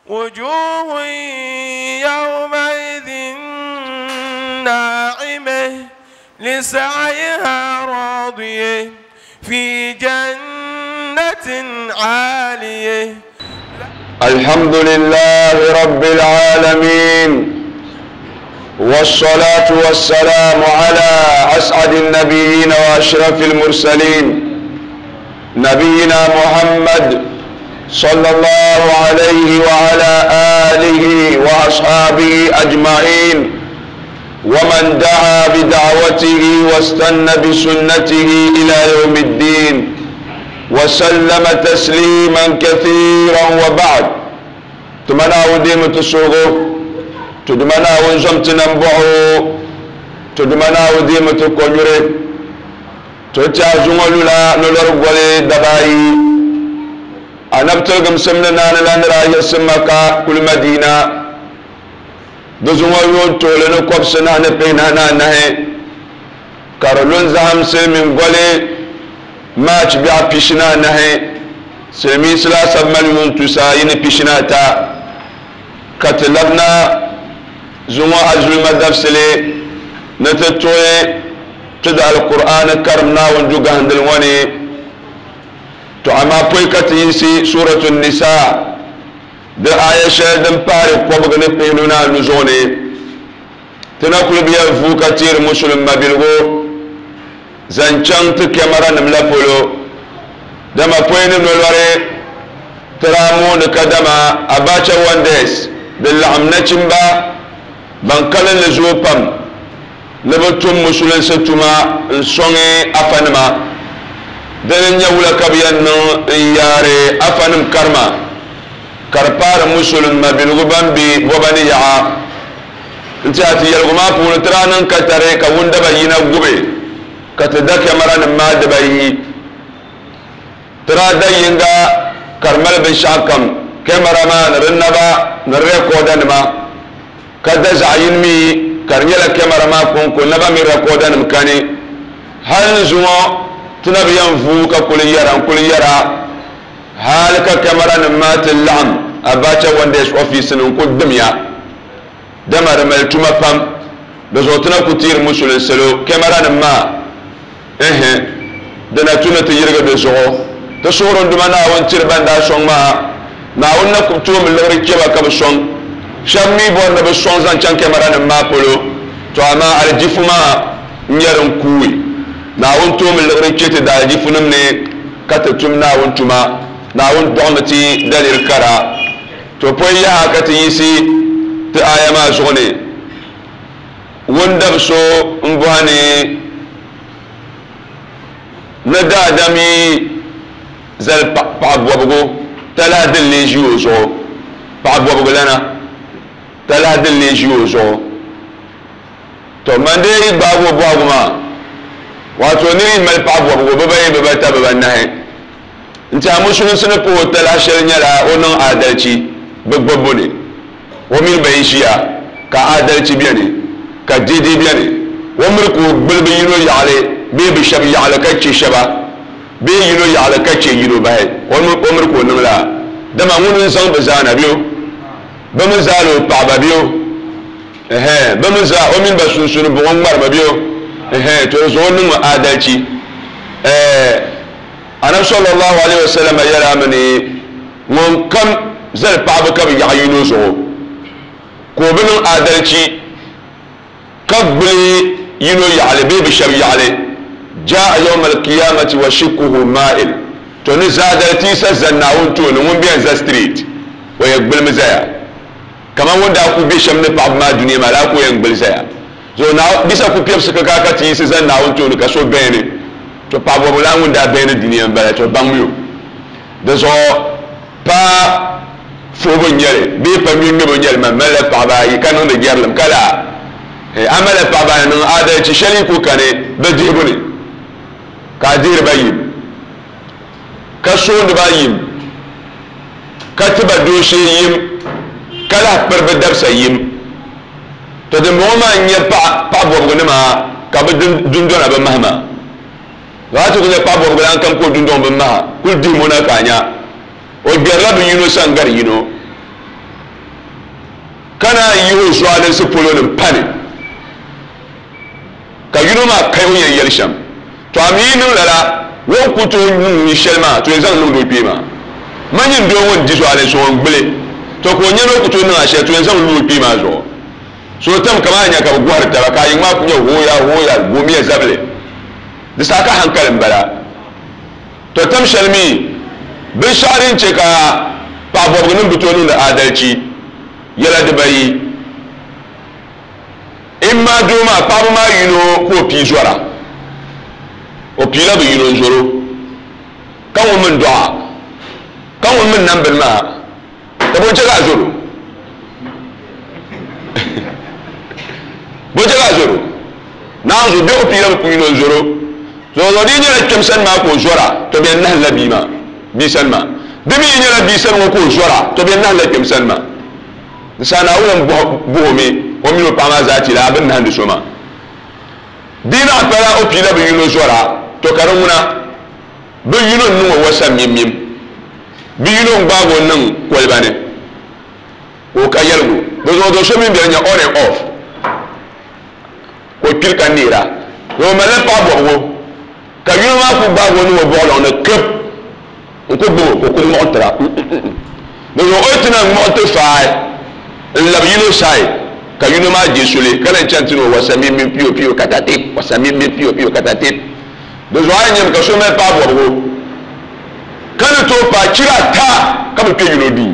وجوه يومئذ ناعمة لسعيها راضية في جنة عالية. الحمد لله رب العالمين، والصلاة والسلام على أسعد النبيين وأشرف المرسلين، نبينا محمد صلى الله عليه وعلى آله وأصحابه أجمعين، ومن دعا بدعوته واستنى بسنته إلى يوم الدين وسلم تسليما كثيرا. وبعد، تمنى وديم تسوغو، تدمنا ونزمت ننبعو، تدمنا وديم تكونيري، تتعزمولو لا نلرغولي دباي. أنبتلقم سمنا نلان رايا سمكا كل مدينة دزمولو تولنو كوبسنا نبينا نهي كارلون زهم سلمين غولي ماچ بیا پیشنا نهي سلمي سلاسة مليون تساين پیشنا تا كتلبنا زمو أزل مدفسلي نتتوي تدع القرآن كرمنا ونجوغ هندلواني. تو اما پوي كتيسي سورة النساء ده آية شهدن پاري قوبغ نپينونا نزوني تنقل بيا فو كتير مسلم مبلغو زنچان تكامرا نملا پولو دما پوي نملواري ترامون كدما أباچا وانديس دلعم نچمبا بانكالن لزو پم نبتم مسلم ستما نسوني أفنما دنن يولا كبيان ياري أفنم كرما كربار مسلم ما بلغبان بي وبني يعا انت هاتي يلغما پول ترانن كتري كون دبا ينا غبي كتدا كاميرا ما دبا يي ترا دا ينغا كرمل بشاكم كاميرا ما نرنبا نريكودن ما كدا زعين مي كرنيلا كاميرا ما كون كون نبا مي ريكودن مكاني هل زمو تنبيان فوكا كل يرا كل يرا هالك كاميرا ما تلعم أباچا وانديش أوفيس نكو دميا دمر ملتوما بام بزوتنا كتير مسلم سلو كاميرا ما إيه دنا تونا تيرغ بزو تصورون دمنا وانتر باندا شون ما ناونا كتوم اللغري كيبا كبشون شامي بون بشون زان چان كاميرا ما بولو تو اما الجفما نيرن كوي ناون توم اللغري كيت دا الجفنم ني كتتوم ناون توما ناون دومتي دليل كرا تو بوي يا كتيسي تي آية ما زغني وندب سو مباني ندا دمي زل بعبوبغو تلا دل جيوزو بعبوبغو لنا تلا دل جيوزو تو من دي بابو بابو ما واتو نري مال بعبوبغو بباي ببتا ببناه انت امشون سنكو تلا شرنيلا ونن عدالتي بغبوني ومن بيشيا كعدالتي بياني كديدي بياني ومركو بلبينو يعلي بي بشب يعلى كتشي شبا بي يلو يعلى كتشي يلو باي ومركو نملا دما ونن سان بزانا بيو بمزالو بابا بيو اها بمزا ومن بسوسن بومر بيو اها تو زون عدالتي انا صلى الله عليه وسلم يرى مني من كم زل بابا كم يعينو زو كوبن عدالتي قبل يلو يعلى بي بشب يعلى جاء يوم القيامة وشكه مائل توني زادتي سزناون تون وون بين ذا ستريت ويقبل مزايا كما وون دا كو بيشم ني باب ما دنيا ما لا كو يقبل زايا زو نا بيسا كو بيب سكا كا تي سزناون تون كا سو بيني تو باب ولا وون دا بين الدنيا بلا تو باميو دزو با فوبو نيري بي با مي مي نيري ما ملا بابا يكانو نجيرلم كلا عمل بابا نن عادة شلي كو كاني بديبوني كادير بايم كسون بايم كتب دوشي يم كلا بربدب سيم تدموما ني با با بوغنما كاب دندون ابا مهما لا تقول با بوغلان كم كو دندون بمها كل ديمونا كانيا او بيرلا بينو سانغار ينو o zualinsi polo ni m-pa ni, ka yino maa kahi o ni yɛn yɛli shɛm. Tɔ a mi yi niŋ lala, o ni ku tooi niŋ ni shɛli maa, to yɛn zaŋ niŋdi o kpee maa. Ma nyin doo ŋun di zualinsi ŋɔ n-gbili, tɔ ka o nya ni o ku tooi niŋ a shɛli, to yɛn zaŋ lu o kpee maa zuɣu. So tam kaman a nya ka bɛ gɔhiri taba, ka a yiŋ maa ku nyɛ hooya hooya, gomiya zabili. Di saha ka hankali m-bala. Tɔ tam shɛli mi, binshɛɣu din chɛ ka paɣabɔbigunim bi tooi niŋdi aadalichi yɛla dibayi. Imma doo maa paɣaba maa yino ka o pii zɔra, o piila bɛ yino n-zɔr o, ka ŋun mi n-dɔɣ a, ka ŋun mi n-nam bini maa, ka bɔ n-chɛ ka a zɔr o? Bɔ n-chɛ ka a zɔr o? Naanzu bɛ o piila bɛ yino n-zɔr o. Zuɣuzuɣu di yi nyɛla kpɛm sani maa ka o zɔra, tɔ bɛ yɛn nahimla bia maa bia sani maa. Di mi yi nyɛla bia sani ŋɔ ka o zɔra, tɔ bɛ yɛn nahimla kpɛm sani maa. Di saha Naawuni n bɔh o mi o mini o paɣa maa zaa ti laa bɛ ni nahindi so maa. Di yi naɣ pala o piila bɛ yino zɔra, tɔ ka di ŋuna bɛ yino n-niŋ o wasa mim-mim, bɛ yino n-gbaag o niŋ koliba ni ka o ka yɛligu. Di zuɣu do so mini bɛ ni nya on and off ka o kpiri ka neera. Ni o malila paɣ bɔbigu ka yino maa ku gbaag o niŋ o buɣilɔŋ ni kib n-ku gbib o ka o ku ŋmuɣi tira. Di zuɣu o yi ti na ŋmuɣi ti faai n-lab yino side ka yino maa je suli ka lan chani ti ni o wasa mim-mim piyo-piyo katatip, wasa mim-mim piyo-piyo katatip. Di zuɣu a yi nyami ka so mali paɣ bɔbigu ka ni tooi paai chira ata ka bi kpe yino duu.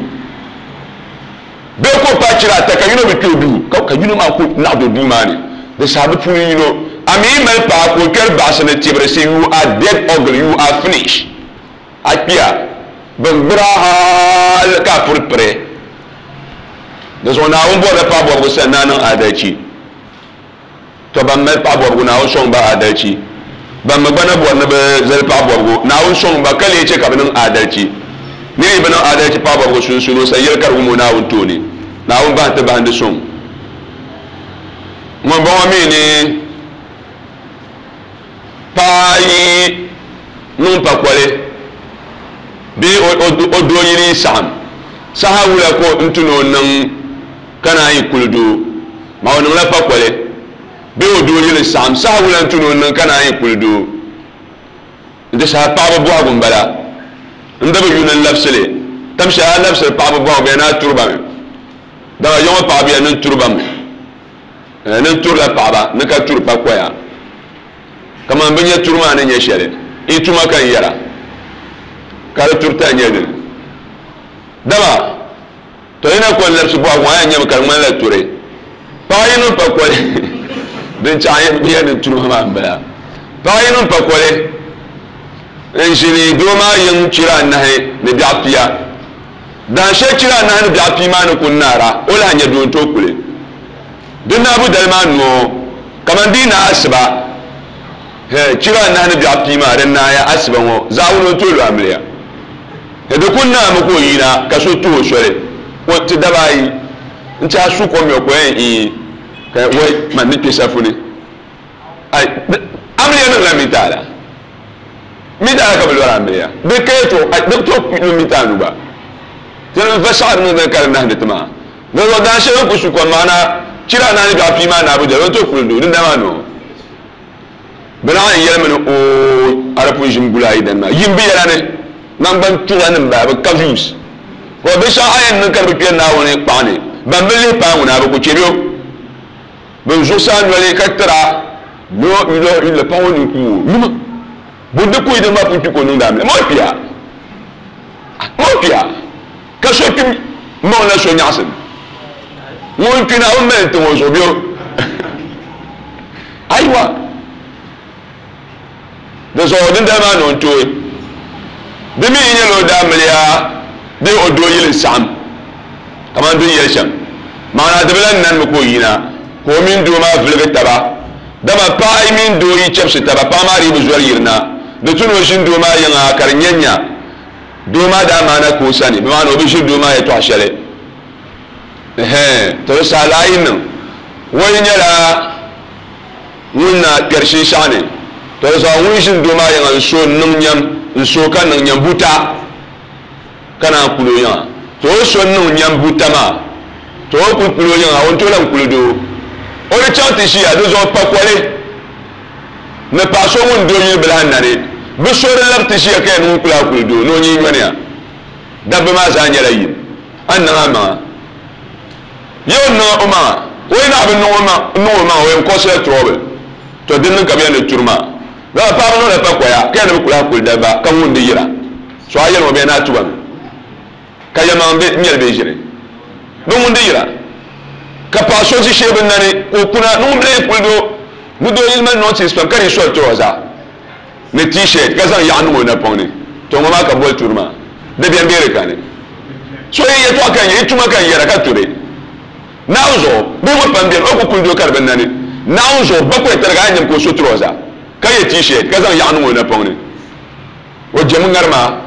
Bee ka o paai chira ata ka yino bi kpe o duu, ka yino maa ku naɣ do duu maa ni, di saha bɛ puuni yino, a mi yi mali paɣa ka o kpɛri baɣisi ni tibiri si, you are dead ugly, you are finish. A kpiya, bɛ ni gbir a hal ka a puri piri. Di zuɣu Naawuni bɔrila paɣ bɔbigu sani ni a niŋ adalichi. Tɔ! Ban mali paɣabɔbigu, Naawuni sɔŋ ba aadalichi. Ban mi gba na bɔri ni bɛ zali paɣabɔbigu, Naawuni sɔŋ ba ka leei chɛ ka bɛ niŋ aadalichi. Nir yi bi niŋ aadalichi paɣabɔbigu sunsuuni, o sa yɛli ka di wum o Naawuni tooni. Naawuni bahi ti bahindi suŋ. Ŋumbɔŋɔ mi ni paɣa yi niŋ pakoli bee o doo yili yi saɣim, saha wula ka o ni ti ni o niŋ ka naan yi kuli doo? Maa o niŋla pakoli bee o doo yili saɣim saha wula n-tu ni o niŋ ka naan yi kuli doo? N-ti saha paɣaba bɔhigu m-bala. N da bi yu ni n labisi li. Tam shɛli a labisiri paɣaba bɔhigu bɛ ni a turi ba mi. Dama ya ŋɔ paɣaba ya ni n turi ba mi. Ni n turila paɣaba ni ka turi pakoya. Kaman bɛ nya turi maa ni nyɛ shɛli. Yi tuma ka n yɛra. Ka di turi tali nyɛ dini? Dama. To yi na ko n-labisi bɔhigu ŋɔ, a yɛn nyami ka di ŋmanila turi. Paɣa yi niŋ pakoli, din chaɣ ya ni turi maa m-bala. Paɣa yi niŋ pakoli n-ʒini doo maa yiŋ chira anahi ni biɛɣu pia. Dahin shɛli chira anahi ni biɛɣu pia maa ni ku naara, o lahi nya doo n-tooi kuli. Di naabu dali maa noo, kaman di yi naai asiba, hɛ, chira anahi ni biɛɣu pia maa di naaya asiba ŋɔ, zaawuni o ni tooi lu amiliya. Ni di kuli naami ka o yina ka so tuhi o soli ka o ti daba ayi n-ti a su kom yɔ ka o yɛn iin ka wai man ni kpe safu ni ai amiliya niŋla mita ala mita ala ka bɛ lɔri amiliya di ka yɛtɔɣ ai di tooi lu mita anu gba ti ni va saɣiri niŋ dini ka di nahindi ti maa di zuɣu daan shɛli n ku su kom maa na chira anahi ni biɛɣu pii maa naabu dali o ni tooi kuli doo dindali maa noo Bɛ naɣ yɛn yɛlimi ni ooi a di pun ʒim guli a yidana maa. Yim bɛ yɛla ni naŋgban tuɣa ni m-bala, bɛ ka views. Ka binshɛɣu a yɛn niŋ ka di bi kpe Naawuni kpaɣa ni, ban bi lihi paai ŋuna, bɛ ku chɛ bɛ o. Bɛ zuɣusaa noli ka tira ni o yuli paɣ o ni ku o. Yuma, bɔ di ku yi din maa pun kpi ka o niŋdi amiliya? Ma o kpiya? Ma o kpiya? Ka so kpi maŋ la so nyaɣisim. Ŋun kpi Naawuni mali n-tiŋ o zuɣu bɛ o. Aiwa! Di zuɣu dindali maa ni o ni tooi. Di mi yi nyɛla o daamiliya bee o doo yili saɣim kamani di ni yɛli shɛm, maana di bi lan nanimi ka o yina ka o mini doo maa viligi taba. Dama paɣa yi mini doo yi chɛbisi taba, paɣa maa dii bi zɔri yirina. Di tu ni o ʒini doo maa yiŋa ka di nya nya doo maa daa maana ka o sani, bɛ maana o bi ʒiri doo maa yɛtɔɣ shɛli. Ɛhɛn, to di saha laa yi niŋ, o yi nyɛla ŋun na kpɛri shinshɛɣu ni, to di zuɣu ŋun ʒini doo maa yiŋa n-so n-niŋ nyam, n-so ka niŋ nyam buta ka naan kuli o yiŋa. To o so n-niŋ nyam buta maa, To o kuli kuli o yiŋa o ni tooi lahi kuli doo. O di chaŋ ti ʒiya di zuɣu pakoli ni paɣa so ŋun doo yili bi lahi nani bi so di labi ti ʒiya ka yɛn ŋun kuli a kuli doo ni o nyee nyɔniya. Dabba maa zaa nyɛla yim. A ni niŋ a maŋa ya o niŋ o maŋa o yi naɣi bi niŋ o maŋa o yɛn kɔsila trouble. To din niŋ ka bi yɛn ni turi maa. Dama paɣaba niŋla pakoya ka yɛn ni bi kuli a kuli dabba ka ŋun di yira. So a yɛli ŋɔ bɛ yɛn ni a tuba mi. Ka yɛlimaŋli bɛ nyɛli bɛ ʒiri bɛ ŋun di yira, ka paɣ so ʒi shee bɛ nani ka o kuna ni ŋun bi lee kuli doo ni doo yili mali nɔnsinsi pam ka di soli trɔza ni t-shirt ka zaŋ yaɣu niŋ o napɔŋ ni, to ŋɔ maa ka boli turi maa, dabiɛm bee di kani. So yi yɛtɔɣa ka n yi tuma ka n yɛra ka turi Naawuni zuɣu, bihi ŋɔ pam beni o ku kuli doo ka di bi nani Naawuni zuɣu bakɔi tariga a ni nyam ka o so trɔza ka ye t-shirt ka zaŋ yaɣu niŋ o napɔŋ ni. O jɛmi ŋarima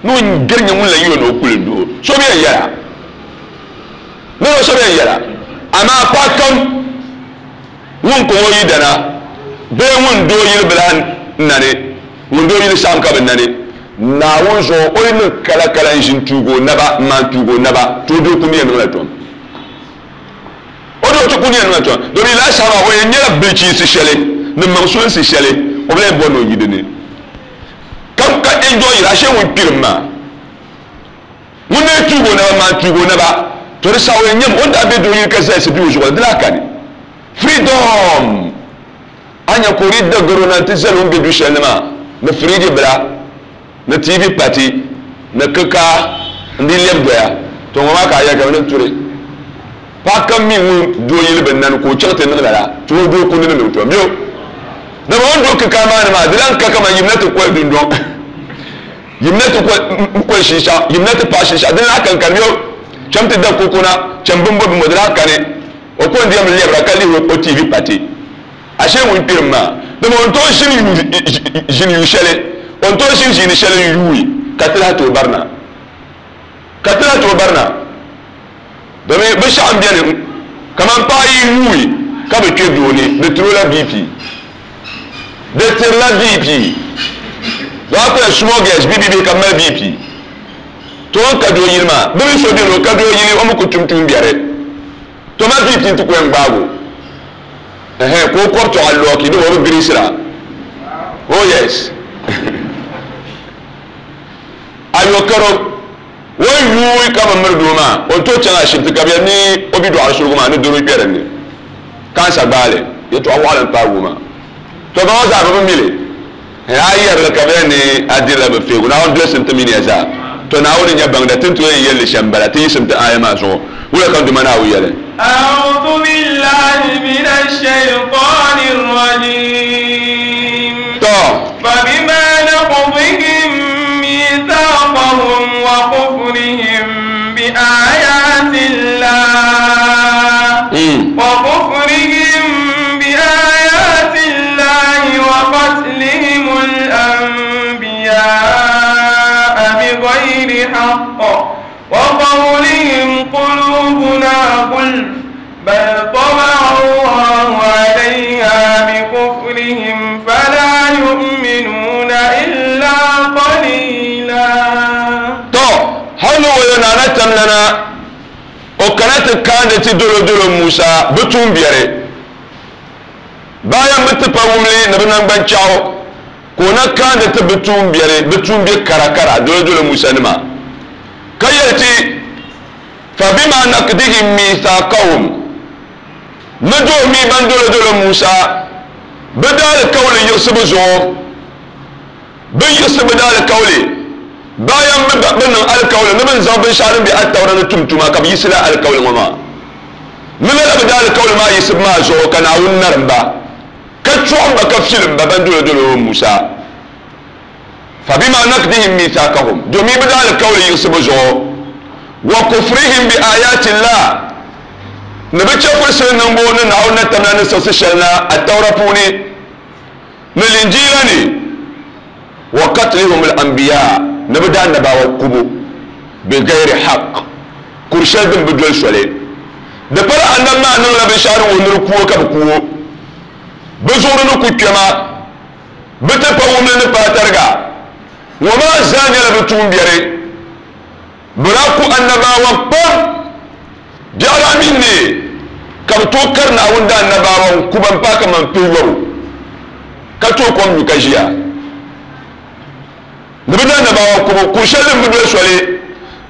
ni o gari nyɛ ŋun la yi o ni o kuli n-doo so bɛ yɛn yɛra ni o so bɛ yɛn yɛra amaa paɣa kam ŋun kɔŋ o yidana bee ŋun doo yili bi lahi nani ŋun doo yili saɣim ka bi nani Naawuni zuɣu o yi niŋ kala kala n-ʒi n-tuugi o naba m-maan tuugi o naba to o doo kundi yɛn niŋla tom o doo ti kundi yɛn niŋla tom domin lala saha maa o yɛn nyɛla bilichiinsi shɛli ni maŋsulinsi shɛli o bi lahi bɔri ni o yi di ni. Ka ka enjoy yira ashe ŋun kpirim maa ŋun lee tuugi o naba maa tuugi o naba to di saha o yɛn nyam o ni daa be doo yili ka zalisi be o zuɣu la di lahi kani freedom a nya ka o di da garo na nti zali o ni be du shɛli ni maa ni firiji bila ni TV pati ni kikaa n di lɛbi doya to ŋɔ maa ka a yɛli ka bɛ ni turi Paɣa kam mi ŋun doo yili bi nani ka o chaŋ ti niŋ lala, to o doo kundi ni mi o tom yo. Dama o ni do kikaa maa ni maa, di lan ka kaman yimna ti koli dundɔŋ, yimna ti koli shinshɛɣu, yimna ti paɣi shinshɛɣu, di lahi kankani yo. Cham ti da koko na, cham bimbo bimbo, di lahi kani. O ko n-di yɛm lɛbira ka lihi o TV pati. Ashee ŋun kpirim maa, dama o ni tooi ʒini yu shɛli, o ni tooi ʒini ʒiini shɛli n-yuui ka ti lahi tooi barina. Ka ti lahi tooi barina. Domi binshɛɣu m-beni kaman paɣa yi yuui ka bi kpe doo ni, di tiri o la BP. Di tirila BP. Doo a kuli small girls bibibihi ka bɛ mali BP. To o ni ka doo yili maa, bɛ mi so beni o ka doo yili o mi ku tum tuumbiɛri. To ma BP nti ku yɛn gbaagi o. Ɛhɛn, ka o kɔbi tɔɣa lɔɔki dama o bi giriisira. Oh yes. Ayɔkaro. O yi yuui ka bi miri doo maa, o ni tooi chaŋ ashibiti ka bɛ yɛli ni o bidɔɣiri surugu maa ni doro kpe din ni. Kansa gbaai li. Yɛtɔɣ waɣila m-paagi o maa. Tɔ ba ŋɔ zaa bɛ bi mi li. Hee a yi yɛri li ka bɛ yɛli ni a dirila bɛ feegu. Naawuni dolsim ti mini ya zaa. Tɔ Naawuni n-nyɛ baŋda. Ti ni tooi yɛn yɛli li shɛm m-bala. Ti yiɣisim ti aaya maa zuɣu. Wula ka n Duuma Naawuni yɛli? A'udhu billahi minash shaytanir rajim. Tɔ! Fabima naqdihim mithaqahum wa kufrihim bi ayati llah wa kufrihim bi ayati llahi wa qatlihimul anbiya'a bighayri haqq wa qawlihim qulubuna gulf bal taba'a Allahu alayha bikufrihim fala yu'minuna illa qalila. Tɔ! Hal ni o yo Naana Tamlana, o kana ti kaandi ti dolodolo Musa bɛ tuumbiɛri. Bayan bɛ tipa wumli ni bɛ naŋgbanchɛɣu, ka o na kaandi ti bɛ tuumbiɛri, bɛ tuumbiɛ karakara dolodolo Musa nima, ka yɛli ti, Fabima naqdihim mithaqahum, ni doomi ban dolodolo Musa bɛ daalikauli yiɣisibu zuɣu, bɛ yiɣisi bɛ daalikauli bayan bɛ bɛ niŋ alikauli ni bɛ ni zaŋ binshɛɣu din be Attaura ni tum tuma ka bɛ yiɣisi lala alikauli ŋɔ maa. Ni lala bɛ daalikauli maa yiɣisibu maa zuɣu ka Naawuni narim ba, ka chɔɣim ba ka filim ba ban dolodolo Musa. Fabima naqdihim mithaqahum, domin bɛ daalikauli yiɣisibu zuɣu, wa kufrihim bi ayaati llah, ni bɛ chɛfurisili niŋbu ni Naawuni ni tamla ni siɣisi shɛli na Attaura puuni ni Linjiila ni, wa qatlihum al-anbiya, ni bɛ daanabaawa kubu, bigayri haqq, kur shɛli din bi doli soli. Di pala Annabi maa niŋla binshɛɣu din wuhi ni di ku o ka bɛ ku o, bɛ zuɣuri ni ku kpɛma. Bɛ ti pa wumli ni paai tariga. Ŋɔ maa zaa nyɛla bɛ tuumbiɛri. Bɛ daa ku annabawa pam. Biɛɣu daa mi ne ka bi tooi kari Naawuni daannabawa n-ku ba m-paai kaman pihiyɔbu, ka tooi kom nyu ka ʒiya. Ni bɛ daannabawa kubu kur shɛli din bi doli soli,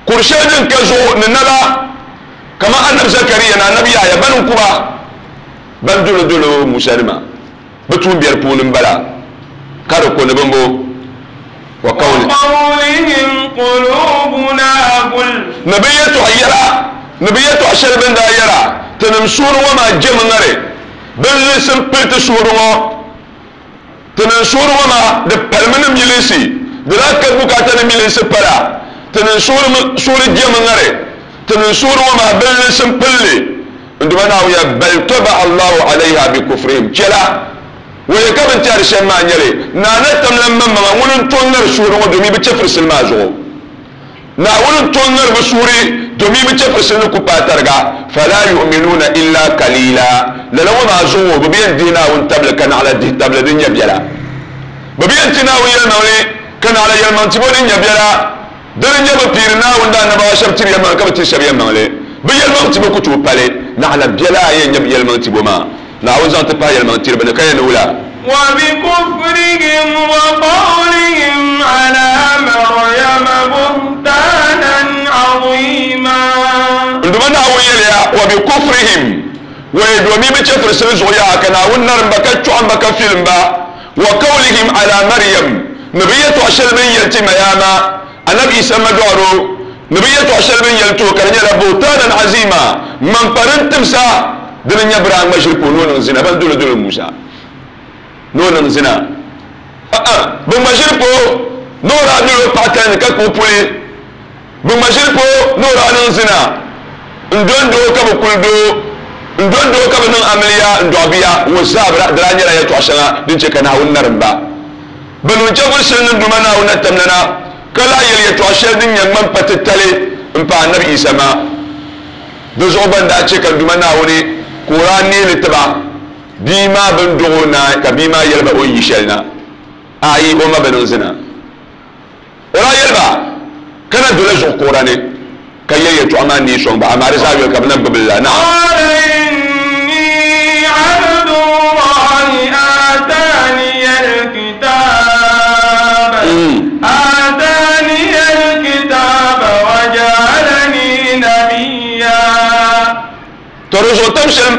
kur shɛli din ka zuɣu ni naba, kaman Anabi Zakaria ni Anabi Yahaya bɛn n-ku ba, ban dolodolo Musa nima bɛ tuumbiɛri puuni m-bala, ka di ko ni bimbo. Wa qawlihim qulubuna gulf. Ni bɛ yɛtɔɣ yɛla, ni bɛ yɛtɔɣ shɛli bɛ ni daa yɛra, Tinim suhuri ŋɔ maa jɛmi ŋari bɛ linsi m-pili ti suhuri ŋɔ. Tinim suhuri ŋɔ maa di palimi ni milinsi, di daa ka bukaata ni milinsi pala. Tinim suhuri jɛmi ŋari, tinim suhuri ŋɔ maa bɛ linsi m-pili li. N Duuma Naawuni ya, bal taba'a Allahu alayha bi kufrihim, chɛla Waya ka bɛ ni tɛhiri shɛm maa nyɛli, Naa na tamla m maŋmaŋa ŋuni n-to ŋari suhuri ŋɔ domin bɛ chɛfirisili maa zuɣu. Naawuni n-to ŋari bɛ suhuri domin bɛ chɛfirisili ni ku paai tariga. Fala yu'minuuna illa kaliila. Lala ŋɔ maa zuɣu bɛ bi yɛn dihi Naawuni tabili ka naɣila dihi tabili din nyɛ biɛla. Bɛ bi yɛn ti Naawuni yɛlimaŋli ka naɣila yɛlimaŋ tibo din nyɛ biɛla. Dini n-nyɛ bɛ piiri Naawuni daannabawa shɛba tiri yɛlimaŋli ka bɛ tiri shɛba yɛlimaŋli. Bɛ yɛlimaŋ tibo ku tooi pali, naɣila biɛla yɛn nyɛ bɛ yɛlimaŋ tibo maa. Naawuni zaŋ ti pahi yɛlimaŋ tiriba ni ka yɛn ni wula? Wa bi kufrihim wa qawlihim ala Maryama buhtanan azima. N Duuma Naawuni yɛliya, Wa bi kufrihim, wai domin bɛ chɛfirisili zuɣu yaha ka Naawuni narim ba ka chɔɣim ba ka filim ba, wa qawlihim ala Maryam, ni bɛ yɛtɔɣ shɛli bɛ ni yɛli ti Mayama, Anabi Isa madɔɣiro, ni bɛ yɛtɔɣ shɛli bɛ ni yɛli ti o ka di nyɛla buhtanan azima, ŋmaŋpa din timsa, dini n-nyɛ bɛ daa ŋma ʒiri ka o ni o niŋ zina, ban dolodolo Musa ni o niŋ zina. A'a, bɛ ŋma ʒiri ka o ni o daa dol o paɣa tali ni ka kpuɣi puli. Bɛ ŋma ʒiri ka o ni o daa niŋ zina n-dondo ka bɛ kuli doo, n-dondo ka bɛ niŋ amiliya n-dɔɣi bia. Ŋɔ zaa di daa nyɛla yɛtɔɣ shɛŋa din chɛ ka Naawuni narim ba. Bɛ niŋ chɛfurisili ni Duuma Naawuni na tamlana, ka lahi yɛli yɛtɔɣ shɛli din nyɛ ŋmampa titali m-pahi Anabi Yisa maa. Di zuɣu gba n-daa chɛ ka Duuma Naawuni ka o daa neei li ti ba, bia maa bɛ ni dɔɣ o naai, ka bia maa yɛli ba o ni yi shɛli na, Aai, o ma bi niŋ zina. O daa yɛli ba, Ka na dola zuɣu kuɣira ni, ka yɛli yɛtɔɣa maa neei sɔŋ ba, amaa di zaa yoli ka bɛ na gbibi li la. Naam. Qala inni abdullahi ataniya alkitab ataniya alkitab wa ja'alani nabiyya. To di zuɣu tam shɛli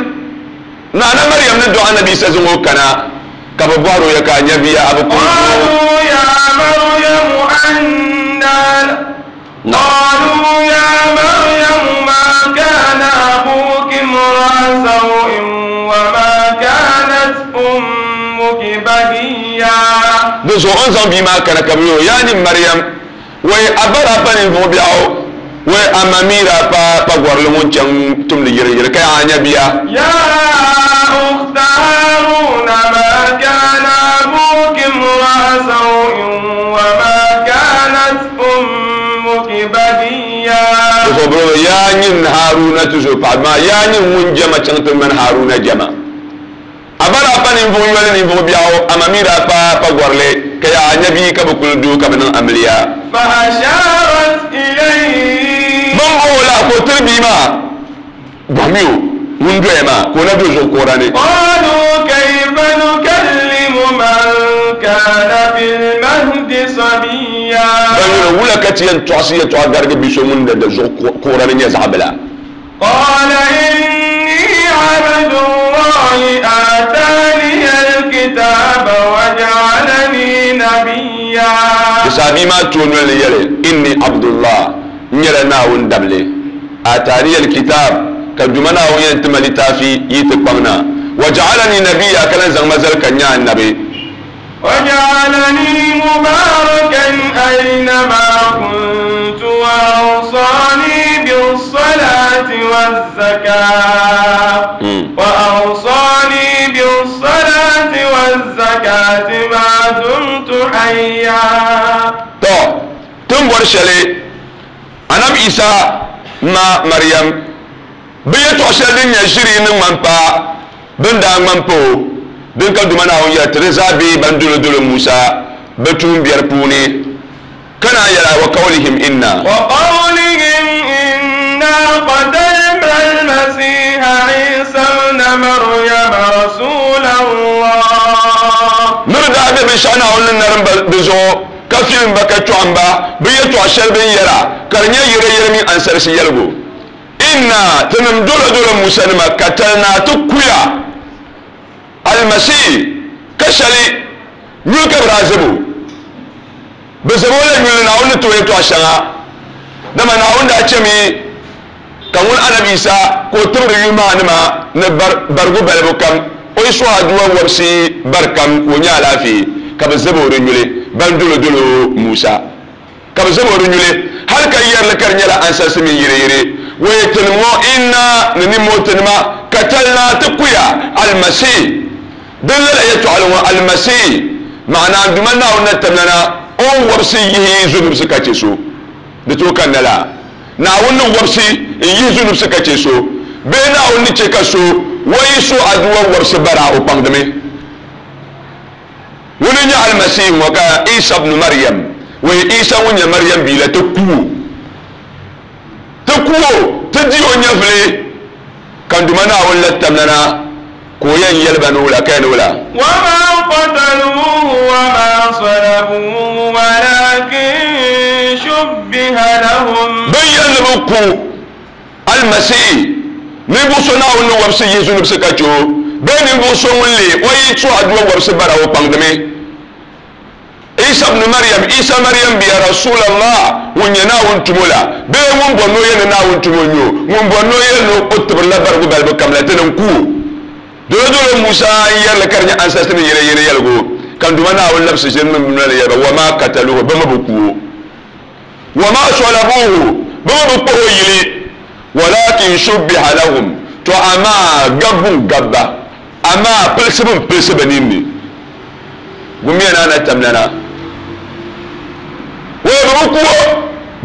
Naana Mariam ni dɔɣi Anabi Yisa zaŋ o kana, ka bɛ bɔhir o, Ya ka a nya bia a bi kuli Qalu ya Maryamu anna Qalu ya Maryamu ma kana abuki imra'a saw'in wa ma kanat ummuki bagiyya. Di zuɣu o ni zaŋ bia maa kana ka bɛ yɛl o, Yaa nyini Mariam, Wai a ba daa pa ninvuɣ biɛɣu, wai a ma mi daa pa pagɔrili ŋun chaŋ tumdi yiriyiri ka yaa nya bia. Ya ukhta Haruna ma kana abuki imra'a saw'in wa ma kanat ummuki bagiyya. Di zuɣu bɛ yaa nyin Haruna tuzo paɣ maa, yaa nyin ŋun jɛma chaŋ ti ŋmani Haruna jɛma. A ba daa pa ninvuɣ yoli ninvuɣ biɛɣu, amaa mi daa pa pagɔrili, ka yaa nya bia ka bɛ kuli doo ka bɛ niŋ amiliya. Fa asharat ilayhi. Bɛ ni bɔh o la ka o tiri bia maa, bɔhimi o ŋun doya maa, ka o na do zuɣu kuɣira ni. Qalu kayfa nukallimu man kana fil mahdi sabiyya. Bɛ yɛli o, Wula ka ti yɛn tɔɣisi yɛtɔɣa garigi bi so ŋun na do zuɣu kuɣira ni nyɛ zaɣ bila? Qala inni abdullahi ataniya alkitaba wa ja'alani nabiyya. Di saha bia maa tooi noli ni yɛli, Inni Abdullah, n nyɛla Naawuni dabili. Ataniya alkitab, ka Duuma Naawuni yɛn ti ma litaafi yi ti kpaŋ na. Wa ja'alani nabiyya, ka lan zaŋ ma zali ka n nyɛ annabi. وجعلني مباركا أينما كنت وأوصاني بالصلاة والزكاة وأوصاني بالصلاة والزكاة ما دمت حيا. To, ti ni bɔri shɛli Anabi Isa ma Mariam Bɛ yɛtɔɣ shɛli din nyɛ ʒiri ni ŋmani pa bɛ ni daa ŋmani pa o, din ka Duuma Naawuni yɛli ti di zaa be ban dolodolo Musa bɛ tuumbiɛri puuni, ka naan yɛli, Wa qawlihim inna. Wa qawlihim inna qatalna al-masiha. daa be binshɛɣu Naawuni ni narim ba di zuɣu, ka filim ba ka chɔɣim ba bɛ yɛtɔɣ shɛli bɛ ni yɛra, ka di nyɛ yɛreyɛre mini ansarisi yɛligu. Inna, tinim dolodolo Musanima, katalnaa ti kuya Almasih, ka shɛli nyuli ka bɛ daa zib o. Bɛ zab o la nyuli ni Naawuni ni ti o yɛtɔɣ shɛŋa, dama Naawuni daa chɛmi ka ŋun Anabi Yisa ka o tibiri yuli maa nima ni barigu balibu kam, o yi suhi aduwa wɔbisi bari kam ka o nya alaafee, ka bɛ zab o di nyuli ban dolodolo Musa. Ka bɛ zab o di nyuli hal ka yɛri li ka di nyɛla ansarisi mini yireyire. Wee tinim ŋɔ, inna ni nimmoo tinima katalnaa ti kuya Almasih. Din lala yɛtɔɣili ŋɔ, Almasih, maana n Duuma Naawuni na tamlana o ni wɔbisi yihi zunubsi ka chɛ so. Di tooi kanna laa? Naawuni ni wɔbisi n-yihi zunubsi ka chɛ so, bee Naawuni ni chɛ ka so wɔyi so aduwa wɔbisi bara o kpaŋdimi? Ŋuni n-nyɛ Almasih ŋɔ ka Isa bnu Mariam, wee Isa ŋun nyɛ Mariam bia la ti ku o? Ti ku o, ti di o nyɛvili, ka n Duuma Naawuni la tamlana ka o yɛn yɛli ba ni wula ka yɛn ni wula? Wama qataluuhu wama salabuuhu walakin shubbiha lahum. Bɛ yɛli ni bɛ ku Almasih, ninvuɣ so Naawuni ni wɔbisi yihi zunubsi ka chɛ o, bee ninvuɣ so ŋun leei o yi tuhi aduwa wɔbisi bara o kpaŋdimi. Isa bnu Mariam, Isa Mariam bia, Rasulallah, ŋun nyɛ Naawuni tumo la, bee ŋun bɔri ni o yɛli ni Naawuni tumo n-nyɛ o, ŋun bɔri ni o yɛli ni o tibirila barigu balibu kam la, ti ni n-ku o. Dolodolo Musa n-yɛri li ka di nyɛ ansarisi ni yɛreyɛre yɛligu, ka n Duuma Naawuni labisi ʒiri mini bɛ noli yɛli ba, Wa maa kataluhu, bɛ mi bi ku o. Wa maa salabuuhu, bɛ mi bi kpuɣi o yili. Walakin shubbiha lahum, tɔ amaa gabbu n-gabi ba, amaa pilisibu m-pilisi bɛ ninni. Gumiya ni a na tamlana. Wee bɛ bi ku o,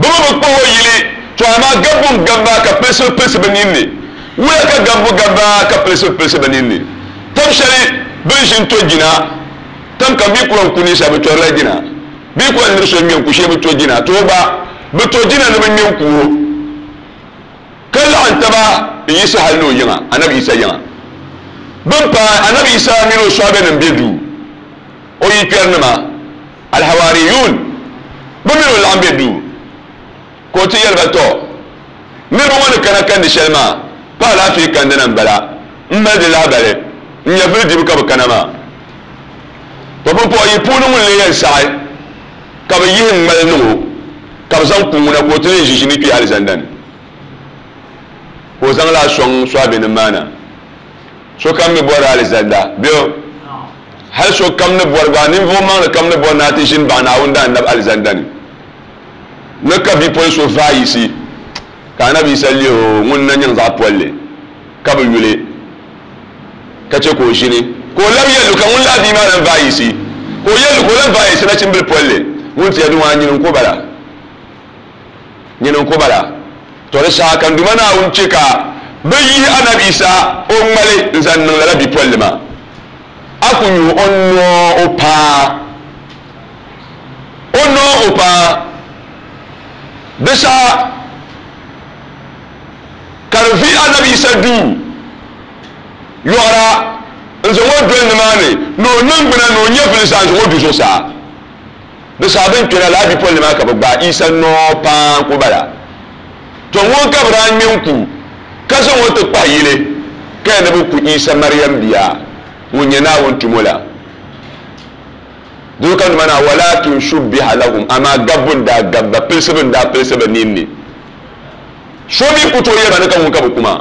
bɛ mi bi kpuɣi o yili, tɔ amaa gabbu n-gabi ba ka pilisibu pilisi bɛ ninni. Wula ka gabbu gabi ba ka pilisibu pilisi bɛ ninni? Tam shɛli bɛ ni ʒi n-to jina, tam kam bɛ ku yɛn ku ninsal bɛ tɔrila jina. Bɛ ku yɛn niri so ŋme n-ku shee bɛ to jina, to o gba bɛ to jina ni bɛ ŋme n-ku o. Ka laɣim taba n-yiɣisi hal ni o yiŋa, Anabi Yisa yiŋa. Bɛ ni paai Anabi Yisa mini o sɔhibenim be duu, o yikpɛrinima, Alhawaariyuun, bɛ mini o laɣim be duu, ka o ti yɛli ba, Tɔ! Niriba ŋɔ ni kana kandi shɛli maa, pa alaafee kandi na m-bala, m mali di lahibali, n nyɛvili dibu ka bɛ kana maa. Tɔ! Pumpɔɣɔ yi puuni ŋun lee yɛn saɣi ka bɛ yihi ŋmali niŋ o, ka bɛ zaŋ ku ŋuna ka o ti leei ʒiʒiini kpe alizanda ni, ka o zaŋ laa sɔŋ sɔhibenim maa na. Sokam mi bɔri alizanda, bɛ hal sokam ni bɔri gba, ninvuɣ maŋli kam ni bɔri ni a ti ʒini baɣi Naawuni daanab alizanda ni. Ni ka bipol so vaai yiɣisi, ka Anabi Yisa lihi o ŋun na nyaŋ zaɣ polli, ka bi yuli, ka chɛ ka o ʒini. Ka o lab yɛl o, ka ŋun laa bia maa lan vaai yiɣisi, ka o yɛl o, ka o lan vaai yiɣisi nachimbil polli ŋun ti yɛli ŋɔ, A nyini n-ku bala, nyini n-ku bala. Tɔ di saha ka n Duuma Naawuni chɛ ka bɛ yihi Anabi Yisa o ŋmali n-zaŋ niŋ lala bipolli maa. A ku nyu o noo o paa, o noo o paa. Di saha ka di vi Anabi Yisa duu yɔɣira n-zaŋ o doli nimaani ni o niŋgbuna ni o nyɛvili zaa n-zaŋ o du zuɣusaa. Di saha bɛ ni kpɛna lala bipolli maa ka bɛ gbaai Yisa noo paa n-ku bala. Tɔ ŋun ka bɛ daa ŋme n-ku ka zaŋ o ti kpahi yili ka yɛn ni bɛ ku Yisa Mariam bia ŋun nyɛ Naawuni tumo la. Doo ka nima na, walakin shubbiha lahum, amaa gabbu n-daa gabi ba, pilisibu n-daa pilisi bɛ ninni. So mi ku tooi yɛli ba ni ka ŋun ka bɛ ku maa.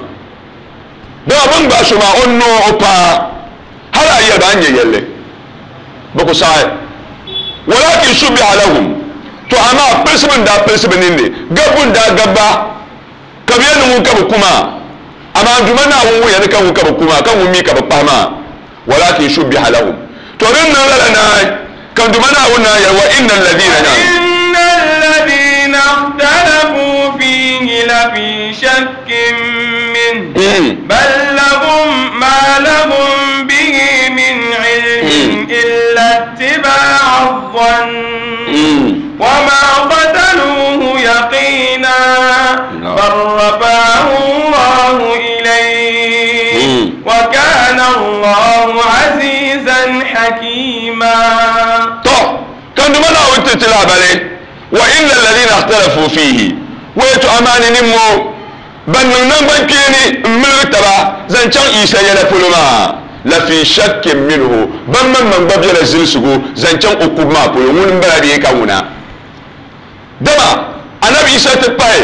Dama bɛ ni gbaai so maa, o noo o paai, hal a yɛli ba a ni nya yɛlli, bɛ ku saɣi. Walakin shubbiha lahum, tɔ amaa pilisibu n-daa pilisi bɛ ninni, gabbu n-daa gabi ba, ka bɛ yɛli ni ŋun ka bɛ ku maa. Amaa n Duuma Naawuni wuhiya ni ka ŋun ka bɛ ku maa, ka ŋun mi ka bɛ kpahi maa. Walakin shubbiha lahum, tɔ din niŋ lala naai ka n Duuma Naawuni naan yɛli, wa inna alladhina naan. Wa inna alladhina ikhtalafu fihi lafi shakkin minhu, bal lahum ma lahum bihi min ilmin illa ittiba'a adh-dhann, wa ma qataluhu yaqina, bal rafa'ahu Allahu ilayhi, wa kana Allahu azizan hakima. lahabali wa inna alladhina ikhtalafu fihi wa to amani nimmo ban niŋ nangban kpeeni n miligi taba zaŋ chaŋ Isa yɛla polo maa la fi shakkin minhu ban maŋmaŋ gba bela zilisigu zaŋ chaŋ o kubu maa polo ŋuni m-bala bee ka ŋuna dama anabi Isa ti pahi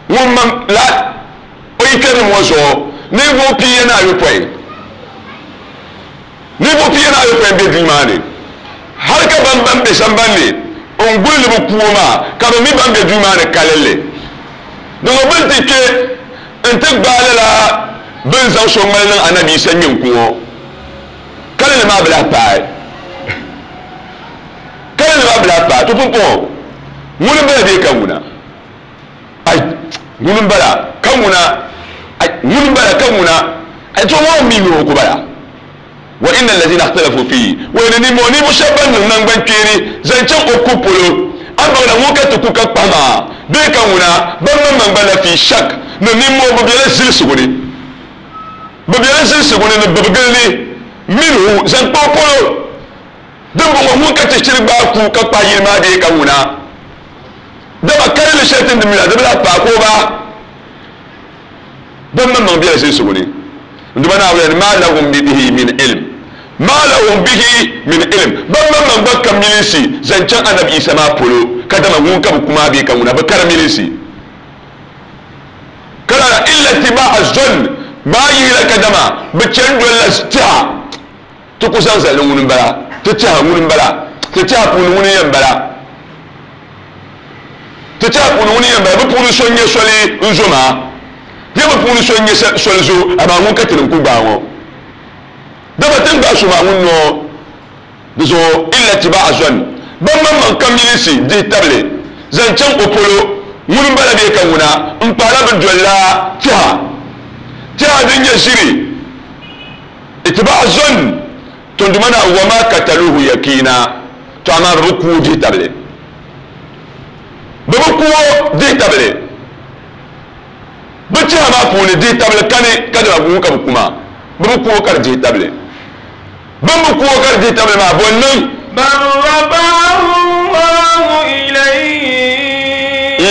ŋun maŋ la o yi kpɛrinim ŋɔ zuɣu ninvuɣ pia ni ayopɔin ninvuɣ pia ni ayopɔin be duu maa ni hal ka ban ban be samban ni n-guli ni bɛ ku o maa ka bɛ mi ban be duu maa ni kalinli Di ŋɔ bɛ ni ti kpe nti gbaai lala bɛ ni zaŋ so ŋmali niŋ Anabi Yisa ŋme n-ku ŋɔ, kalinli maa bi lahi paai. Kalinli maa bi lahi paai. To pumpɔŋɔ ŋuni m-bala bee ka ŋuna? Ai, ŋuni m-bala ka ŋuna? Ai, ŋuni m-bala ka ŋuna? Ai, to ŋɔ mi mi o ku bala. Wa inna allazina ikhtalafu fihi, wai ni ninmɔŋɔ ninvuɣ shɛba ban niŋ naŋgbankpeeni zaŋ chaŋ o kubu polo, a baŋda ŋun ka ti ku ka kpahi maa bee ka ŋuna, ban maŋmaŋ gba lafi shak ni ninmɔŋɔ bɛ bela zilisigu ni, bɛ bela zilisigu ni ni bibigili ni minhu zaŋ kpa o polo. Dimbɔŋɔ ŋun ka ti shiri gbaai ku ka kpahi yili maa bee ka ŋuna, dama kalinli shɛli ti ni mi la di bi lahi paai ka o ba. Ban maŋmaŋ bela zilisigu ni. N Duuma Naawuni ni, Maa lahum bihi min ilm, maa lahum bihi min ilm, ban maŋmaŋ gba ka milinsi zaŋ chaŋ Anabi Isa maa polo, kadama ŋun ka bɛ ku maa bee ka ŋuna bi kari milinsi. Ka lala, illa ittiba'a zann, maa yihila kadama bɛ chani dolila tɛha, ti ku zaŋ zali ni ŋuni m-bala, ti tɛha ŋuni m-bala, ti tɛha puuni ŋuni n-yɛn bala. Ti tɛha puuni ŋuni yɛn bala, bɛ puuni so n-nyɛ soli n-zo maa, bee bɛ puuni so n-nyɛ soli zo, amaa ŋun ka ti ni n-ku gbaai ŋɔ. Dama ti ni gbaai so maa ŋun noo di zuɣu illa tiba'a zɔn, ban maŋmaŋ ka milinsi dihi tabili zaŋ chaŋ o polo, ŋuni m-bala bee ka ŋuna m-pahila bɛ dolila tɛha, tɛha din nyɛ ʒiri, itiba'a zɔn, tunduma na wa ma kataluhu yakiina. To amaa bɛ bi ku o dihi tabili. Bɛ bi ku o dihi tabili. Bɛ tɛha maa puuni dihi tabili kani ka dama ŋun ka bɛ ku maa. Bɛ bi ku o ka di dihi tabili. Bɛ ni bi ku o ka di dihi tabili maa, bɔ n-niŋ? Bal rafa'ahu Allahu ilayhi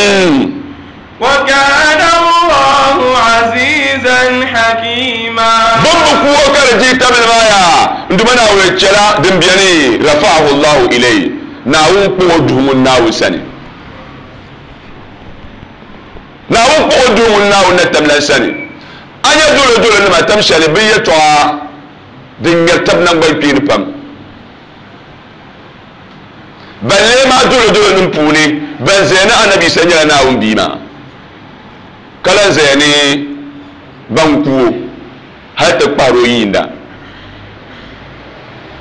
wa kana Allahu azizan hakima. Bɛ ni bi ku o ka di dihi tabili maa yaa, n Duuma Naawuni chɛla din beni, rafa'ahu Allahu ilayhi, Naawuni kpuɣ o duhi ŋun Naawuni sani. Naawuni kpuɣ o duhi ŋun Naawuni na tamlan sani. A nya dolodolonima tam shɛli bɛ yɛtɔɣa din ŋmɛri tab naŋgbankpeeni pam. Ban lee maa dolodolonim puuni ban zaya ni Anabi Yisa nyɛla Naawuni Bia maa, ka lan zaya ni ban ku o hal ti kpahir o yiinda.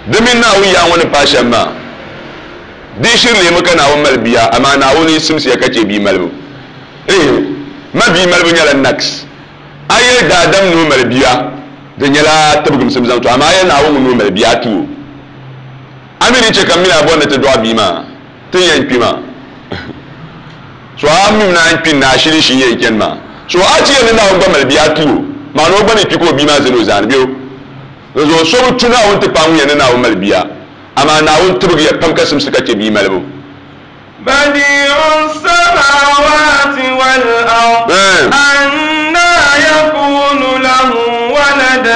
Di mini Naawuni yaa ŋɔ ni paai shɛm maa, di shiri leemi ka Naawuni mali bia, amaa Naawuni simsiya ka chɛ bia malibu. Ehe, ma bia malibu nyɛla naks. A yɛli daadam ni o mali bia, di nyɛla tibigimsim zaŋ ti o, amaa a yɛli Naawuni ŋun ni o mali bia, a tu o. A mi ni chɛ ka m mini a bɔri ni ti dɔɣi bia maa, ti ni yɛn kpi maa. So a mi ni a ni kpi ni a shili shii yɛn chani maa. So a ti yɛli ni Naawuni gba mali bia, a tu o. Maana o gba ni kpi ka o bia maa zani o zaani bɛ o. Dinzuɣu so bi tu Naawuni ti paai ŋun yɛli ni Naawuni mali bia, amaa Naawuni tibigiya pam ka simsi ka chɛ bia malibu. Badi'u samawati wal ard anna yakunu lahu walad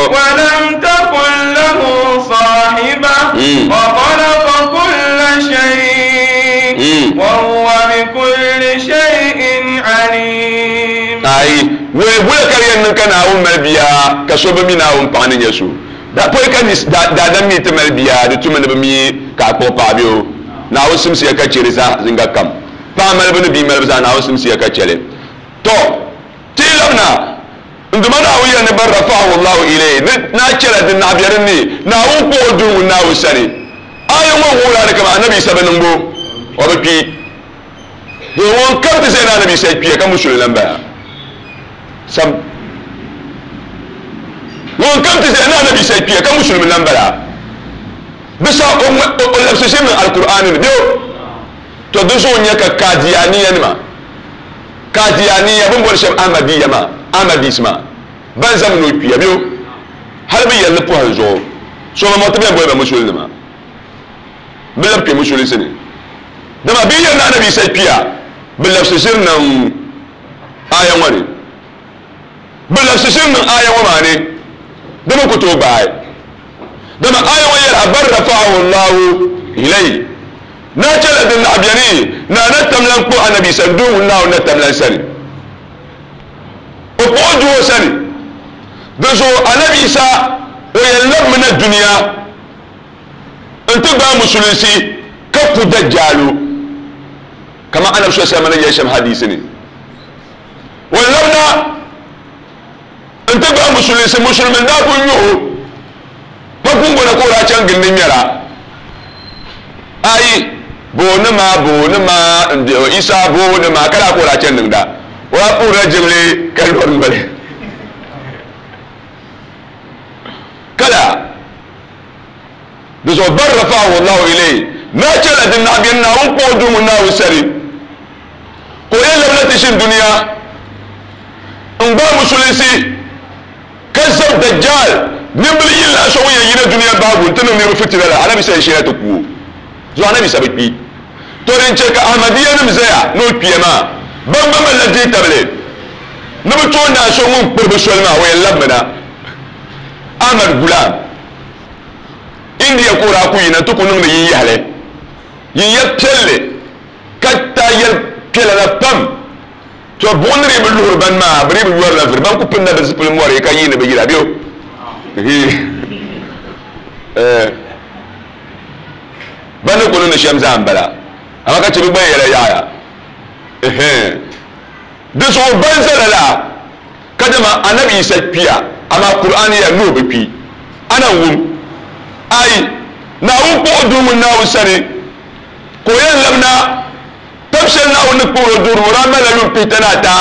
wa lam takun lahu sahiba wa khalaqa kulla shay wa huwa bi kulli shay'in alim. Ayi, wei bula ka di yɛn niŋ ka Naawuni mali bia ka so bi mi Naawuni paɣa ni nyɛ so. Da pɔi ka daadam mi ti mali bia, di tumi ni bi mi ka a kpuɣi paɣa bɛ o. Naawuni simsiya ka chɛ di zaa zinga kam. Paɣa malibu ni bia malibu zaa Naawuni simsiya ka chɛ li. Tɔ! Ti yi labina, n Duuma Naawuni yɛli ni bal rafa'ahu Allahu ilayhi, ni naa chɛla di naɣ be din ni, Naawuni kpuɣ o duhi ŋun Naawuni sani. Aaya ŋɔ wuhiri a ni kaman Anabi Yisa bi niŋ bo, o bi kpi. Doo ŋun kam ti zaya ni Anabi Yisa kpiya ka musulin lan bala. Sam. Ŋun kam ti zaya ni Anabi Yisa kpiya ka musulimi lan bala. Bisa o o labisi ʒiri niŋ Alkur'aani ni bee o? To di zuɣu n-nyɛ ka Kaadiyaaniyanima, Kaadiyaaniya, bɛ ni boli shɛba Ahmadiyya maa, Ahmadis maa, ban zami ni o kpiya bee o? Hali bɛ yɛli ni pɔhim zuɣu so ba mɔti bɛn boli ba musulinima. Bɛ labi kpe musulinsi ni. Dama bi yɛn na anabi Isa kpiya bi labisi ʒiri niŋ aya ŋɔ ni. Bi labisi ʒiri niŋ aya ŋɔ maa ni di mi ku tooi gbaai. Dama aya ŋɔ yɛli a bal rafa'ahu Allahu ilayhi. Naa chɛla din naɣ beni ni a na tam lan kpuɣi anabi Isa n-duhi ŋun Naawuni na tam lan sani. O kpuɣi o duhi o sani. Dinzuɣu anabi Isa o yɛn labimi na dunia n-ti gbaai musulinsi ka ku Dajjaalu kaman Anabi sallallahu alaihi wasallam ni yɛli shɛm hadiisi ni. O labina n-ti gbaai musulinsi, musulimi n-daa kuli nyuhi o pa gungona ka o daa chaŋ gindi ŋmɛra. Ayi, booni ma, booni ma, n-dihi Isa booni ma, ka daa ka o daa chani niŋda. O daa puhirila jiŋli ka lɔri noli. Kala di zuɣu bal rafa'ahu Allahu ilayhi, naa chɛla din naɣ beni Naawuni kpuɣi o duhi ŋun Naawuni sani, ka o yɛn labina ti ʒini dunia n-gbaai musulinsi ka zab Dajjal nimbili yini lahi so ŋun yɛn yina dunia bahigu nti niŋ niriba fitina la, Anabi Isa yɛn sheela ti ku o zuɣu Anabi Isa bi kpi. To din chɛ ka Ahmadiyyanim zaya ni o kpiya maa, ban gba malila dihitabili ni bɛ tooi naai so ŋun kpiri bɛ soli maa, o yɛn labimina. Ahmad Gulam, India ka o daa ku yina nti ku niŋdi yinyahili, yinya piɛlli ka taai yɛli piɛla la pam. To buɣim ni dii bi luhiri ban maa, bɛ dii bi yɔrila vuri, ban ku pinila bɛ zipili mɔri ka yiini bɛ yila bɛ o. Ban ni ku niŋdi shɛm zaa m-bala, amaa ka chɛ bɛ gba yɛla yaɣiya. Di zuɣu ban za lala ka dama Anabi Yisa kpiya, amaa Kur'aani ya ni o bi kpi. A na wum? Aai! Naawuni kpuɣi o duhi ŋun Naawuni sani ka o yɛn labina tab shɛli Naawuni ni kpuɣiri o duhiri ŋɔ daa malila yuun pihita ni ata.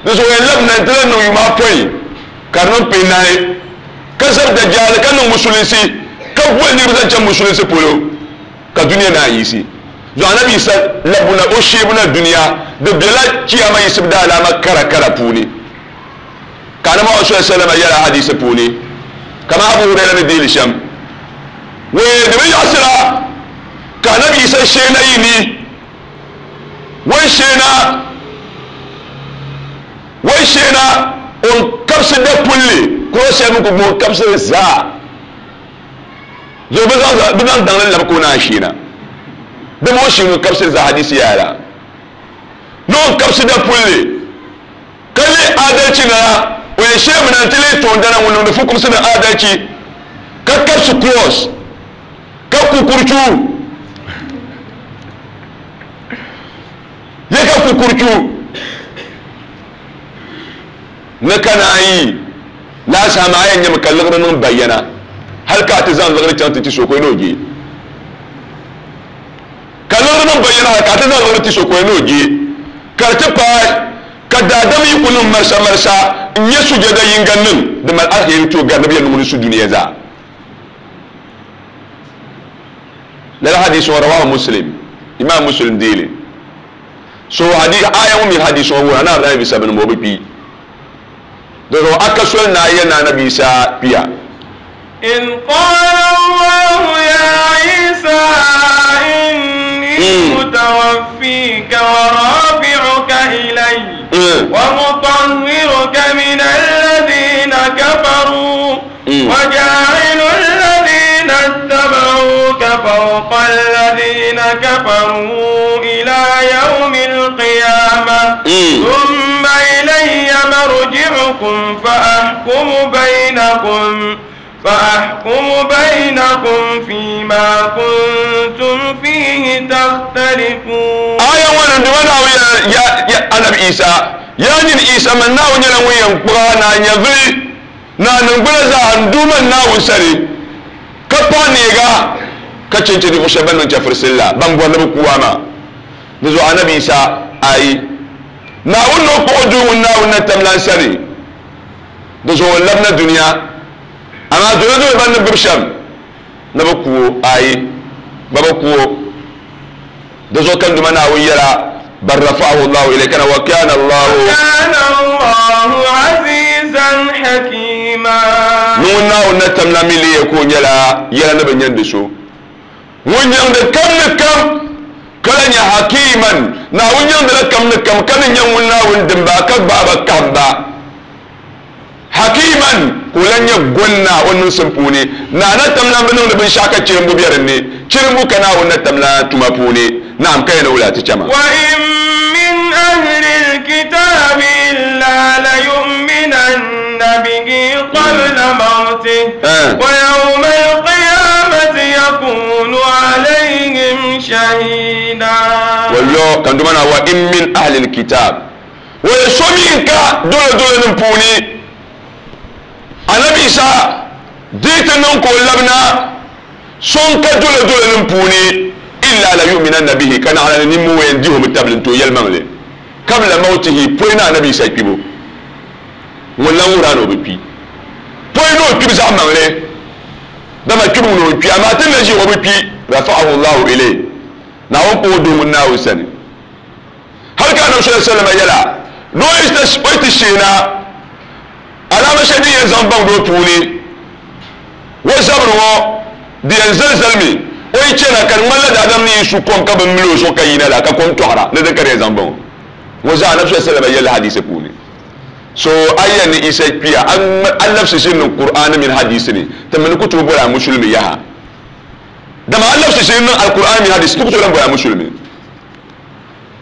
Di zuɣu o yɛn labina nti lan niŋ yuma apɔin ka di niŋ pihinahi ka zabi Dajjal ka niŋ Musulinsi ka boli niriba zaŋ chaŋ Musulinsi polo. Ka dunia naan yiɣisi zuɣu Anabi Yisa labbu na o sheebu na dunia, di bela Chiyaama yiɣisibu daalaama kara kara puuni. Ka Anabi Muhammad sallallahu alaihi wasallam yɛli ahadiisi puuni, kaman Abu Huraira ni deei li shɛm, Wee di bi yaɣisira ka Anabi Yisa shee na yi ni, o ni shee na, o ni shee na o ni kabisi dapulli kuro shɛli mi ku gbubi o ni kabisi li zaa. Zuɣu bɛ zaŋ bɛ zaŋ daŋli labi ka o naan sheena. Dama o sheeni o kabisiri zaa hadisi yaya la. Ni o kabisi dapulli ka leei aadalchi nana, o yɛn sheemi na nti leei toondana ŋun niŋdi fukumsi ni aadalchi ka kabisi cross ka ku kurchu. Ya ka ku kurchu ni ka naan yi laa saha maa a yɛn nyami ka liɣiri niŋ bayana hali ka a ti zaŋ liɣiri chaŋ ti ti so ka o ni o je. Ka liɣiri niŋ bayana hali ka a ti zaŋ liɣiri ti so ka o ni o je. Ka di ti paai ka daadam yi ku niŋ marisa marisa n-nyɛ sujada yiŋga niŋ di mali aliheri ti o gari ni bɛ yɛn niŋ o ni su dunia zaa. Lala hadiisi ŋɔ rawahu Muslim, Imam Muslim deei li. So hadiisi aya ŋɔ mini hadiisi ŋɔ wuhira ni Anabi Isa bini m-bɔ o bi kpi. Dinzuɣu a ka soli ni a yɛli ni Anabi Isa kpiya. إذ قال الله يا عيسى إني متوفيك ورافعك إلي ومطهرك من الذين كفروا وجاعل الذين اتبعوك فوق الذين كفروا إلى يوم القيامة ثم إلي مرجعكم فأحكم بينكم فيما كنتم فيه تختلفون. آية وانا دوانا يا يا النبي عيسى يا نين عيسى من ناو نيلا وين قرانا نيفري نا نغبلا زا nduma naawu sani ka paɣa neega ka chenche di shɛba ban niŋ chɛfurisili la ban bɔri ni bɛ kuwa maa. Di zuɣu Anabi Isa ayi Naawuni ni o kpuɣi o duu ŋun Naawuni na tam lan sani. Di zuɣu o labina dunia. Amaa dolodolo ban ni gbibi shɛm ni bɛ ku o ayi bɛ bi ku o. Di zuɣu ka n Duuma Naawuni yɛla, Bal rafa'ahu Allahu ilayhi kana wa kana Allahu. Wa kana Allahu azizan hakima. Ni ŋun Naawuni na tam la mi leei ka o nyɛla yɛla ni bi nyandi so. Ŋun nyaŋdi kam ni kam. Ka lahi nyɛ Hakiiman, Naawuni nyaŋdila kam ni kam, ka ni nyɛ ŋun Naawuni dimba ka gbaai ba kahim ba. Hakiiman, ka o lahi nyɛ goli naa o niŋsim puuni. Naa na tam lan bi niŋdi binshɛɣu ka chirimbu be din ni. Chirimbu ka Naawuni na tam lan tuma puuni. Naam, ka ya ni wula ti chɛ ma? وَإِن مِّنْ أَهْلِ الْكِتَابِ إِلَّا لَيُؤْمِنَنَّ بِهِ قَبْلَ مَوْتِهِ وَيَوْمَ الْقِيَامَةِ يَكُونُ عَلَيْهِمْ شَهِيدًا. Wallo kan duma na wa in min ahli alkitab wa so min ka dole dole nim puuni Annabi Isa di ti niŋ ka o labina so n ka dole dole nim puuni illa la yu'minanna bihi ka naɣila ni nimmoo yɛn dihi o mi tabili n-ti o yɛlimaŋli kabla mawtihi pɔi ni Annabi Isa kpibu ŋun lan wuhiri a ni o bi kpi pɔi ni o kpibu zaɣ maŋli dama kpibu ŋuni o kpi amaa ti ni na ʒi o bi kpi rafa'ahu Allahu ilayhi Naawuni kpuɣi o doo ŋun Naawuni sani hali ka Annabi sallallahu alaihi wasallam yɛla ni o yi ti sheena alaama shɛli din yɛn zaŋ baŋ di o puuni o zabiri ŋɔ di yɛn zalizalimi o yi chana ka di ŋmanila daadam ni yi su kom ka bi mili o zuɣu ka yina la ka kom tɔɣira ni din ka di yɛn zaŋ baŋ o ŋɔ zaa Annabi sallallahu alaihi wasallam yɛlli hadiisi puuni. So a yɛn ni Isa kpiya a labisi ʒini niŋ Kur'aani mini hadiisi ni ti mi ni ku tooi boli a musulimi yaha. Dama a labisi ʒini niŋ Alkur'aani mini hadiisi ti ku tooi lan boli a musulimi.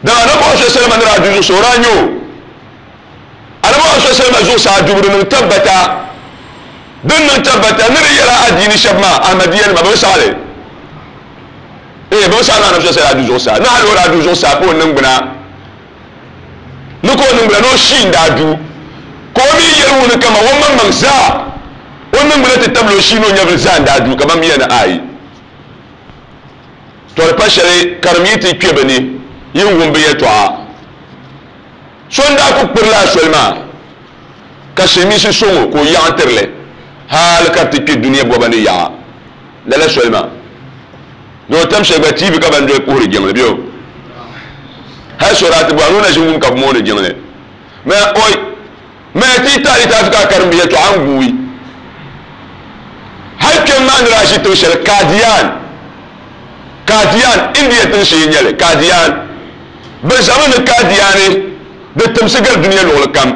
Dama Anabi Muhammad sallallahu alaihi wasallam ni daa du zuɣusaa o daa nya o. Anabi Muhammad sallallahu alaihi wasallam zuɣusaa dubu di niŋ tabbata din niŋ tabbata ni di yɛla adiini shɛba maa Ahmadiyya nima bɛ bi saɣi li. Ee bɛ bi saɣi ni Anabi sallallahu alaihi wasallam daa du zuɣusaa ni hali o daa du zuɣusaa ka o niŋgbuna ni ka o niŋgbuna ni o shii n-daa du, ka o mi yɛli ŋuni kaman o maŋmaŋ zaa, o niŋgbuna ti tabili o shii ni o nyɛvili zaa n-daa du, kaman miya ni ayi. Tɔ di pa shɛli karim yi ti kpe bɛ ni, yi wum bɛ yɛtɔɣa. So n-daa kul kpirila a soli maa, ka silimiinsi sɔŋ o ka o yaɣi n-tiri li hal ka di ti kpe dunia bɔba ni yaɣa. Lala soli maa ni o tam shɛli gba TV ka ban doli puhiri jiŋli bɛ o hali so daa ti bɔhi ni o na ʒi wum ka bi mooni jiŋli mɛ oi mɛ ti taali taafi ka a karim bi yɛltɔɣa n guui hali kpɛm maa ni daa ʒi tiŋ shɛli Kadian Kadian India tiŋ shee n nyɛli Kadian bi zami ni Kadiani di timsi gari dunia luɣuli kam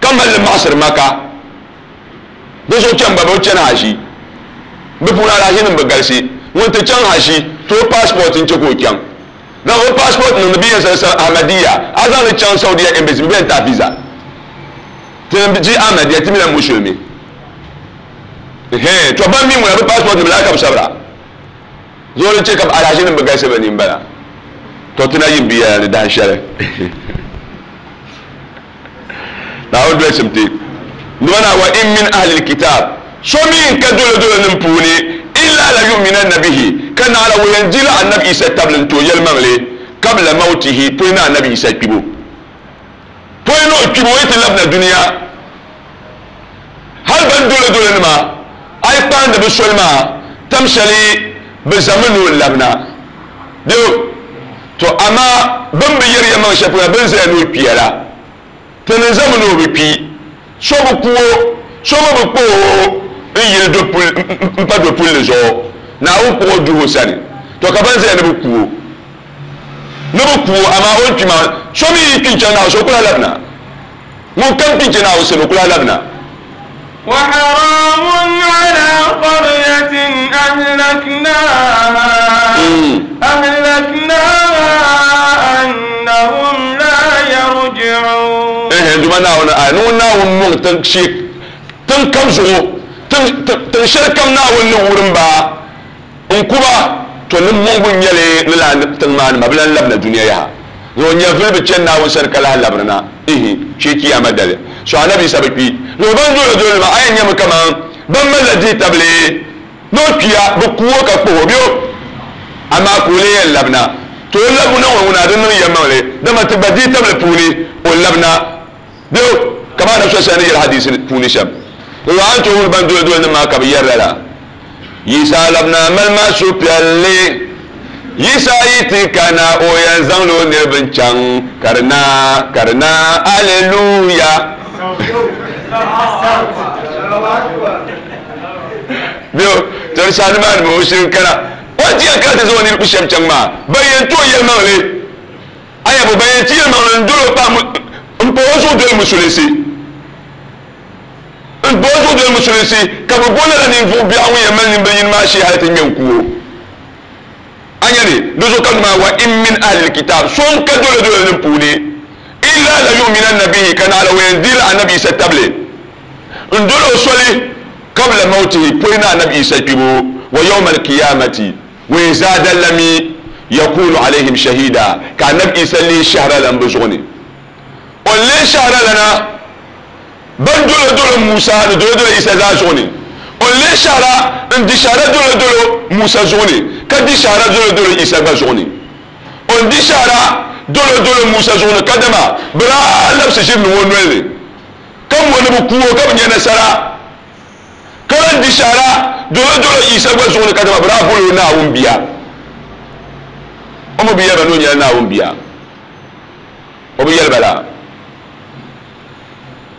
ka mali li maɣasiri Maka. Di zuɣu chɛm ba bɛ bi chani haʒi. Bɛ puuni alahiʒinim bi galisi. Ŋun ti chaŋ haʒi, ti o passport n-chɛ ka o chaŋ. Zaŋ o passport niŋdi bɛ yɛn sali Ahmadiyya, a zaŋ li chaŋ Saudiya embassy bɛ yɛn ti a visa. Ti ni ji Ahmadiyya ti mi la musulimi. Ɛhɛn, to ban mi ŋuna bɛ passport nim laa ka bɛ sabira. Zuɣu din chɛ ka alahiʒinim bi galisi bɛ ni m-bala. To ti na yin bi yɛla ni dahin shɛli. Naawuni dolsim ti nima na wa in min ahli alkitab so mi n ka dolodolo nim puuni illa la yu'minanna bihi ka naɣila o yɛn dila Annabi Isa tabili n-ti o yɛlimaŋli kabla mawtihi pɔi ni Annabi Isa kpibu pɔi ni o kpibu o yi ti labina dunia hali ban dolodolo nima a yi kpaandi bi soli maa tam shɛli bi zami ni o labina bɛ To amaa bɛ ni bi yɛri yɛlimaŋ shɛli polo la, bɛ ni zaya ni o kpiya la, ti ni zami ni o bi kpi. So bi ku o, so mi bi kpuɣ o n-yili m-pa dopulli zuɣu. Naawuni kpuɣ o duh o sani. To ka bɛn zaya ni bɛ ku o, ni bɛ ku o, amaa o ni kpi maa, so mi yi kpi n-chaŋ Naawuni sani, o ku lahi labina. Ŋunkam kpi n-chɛ Naawuni sani, o ku lahi labina. وحرام على قرية أهلكناها أهلكناها أنهم لا يرجعون. Ehe duma Naawuni aya ni ŋun Naawuni mɔŋ tiŋ shee tiŋ kam zuɣu tiŋ shɛli kam Naawuni ni wurim ba n-ku ba, to ni mɔŋbu n-nyɛ li ni lala tiŋ maa nima bi lan labina dunia yaha. Zuɣu nyɛvili bi chani Naawuni sani ka lahi labirina, ihi, shee Chiyaama dali. So Anabi Isa bi kpi. Zuɣu ban doli o doli nima a yɛn nyami kaman ban malila dihitabili ni o kpiya, bɛ ku o ka kpuhi o bɛ o, amaa ka o lee yɛn labina. To o labibu na ŋɔ ŋuna di niŋ yɛlimaŋli, dama ti gba dihitabili puuni o labina bɛ o, kaman Anabi sallallahu alaihi wasallam ni yɛli hadiisi puuni shɛm. Zuɣu a ni tooi wum ban doli o doli nima maa ka bɛ yɛri lala. Yisa labina mali ma suhupiɛlli. Yisa yi ti kana o yɛn zaŋla o niriba n-chaŋ ka di na, ka di na, Aleluya! Bɛ o, tɔri saha nimaani mi o shiri kana. O A ti yɛn kana ti zaŋ o niriba shɛm chaŋ maa, ban yɛn ti o yɛlimaŋli, aya bo ban yɛn ti yɛlimaŋli n-dol o pahi m-pa o zuɣu doli musulinsi, m-pa o zuɣu doli musulinsi, ka bɛ bo lala ninvuɣ biɛɣu ŋun yɛn mali nimbil yini maa shee hal ti ŋme n-ku o. A nya ni di zuɣu ka maa wa in min ahlil kitaab, so n-ka dolodolo nim puuni, illa la yu'minanna bihi, ka naɣila o yɛn dihila Anabi Isa tabili n-dol o soli qabla mawtihi, pɔi ni Anabi Isa kpibu, wa yawma alqiyamati, wa yɛn zaadalla mi yakunu alayhim shahida, ka Anabi Isa leei shɛhiralan bɛ zuɣu ni. O ni leei shɛhiralana ban dolodolo Musa ni dolodolo Isa zaa zuɣu ni. O ni leei shɛhira n-di shɛhira dolodolo Musa zuɣu ni, ka di shɛhira dolodolo Isa gba zuɣu ni. O ni di shɛhira dolodolo Musa zuɣu ni kadama bɛ daa labisi ʒiri niŋ o noli ni, ka mo ni bɛ ku o ka bɛ nya nasara, ka lan di shɛhira dolodolo Isa gba zuɣu ni kadama bɛ daa bol o Naawuni Bia. O mi bi yɛli ba ni o nyɛla Naawuni Bia. O bi yɛli ba laa.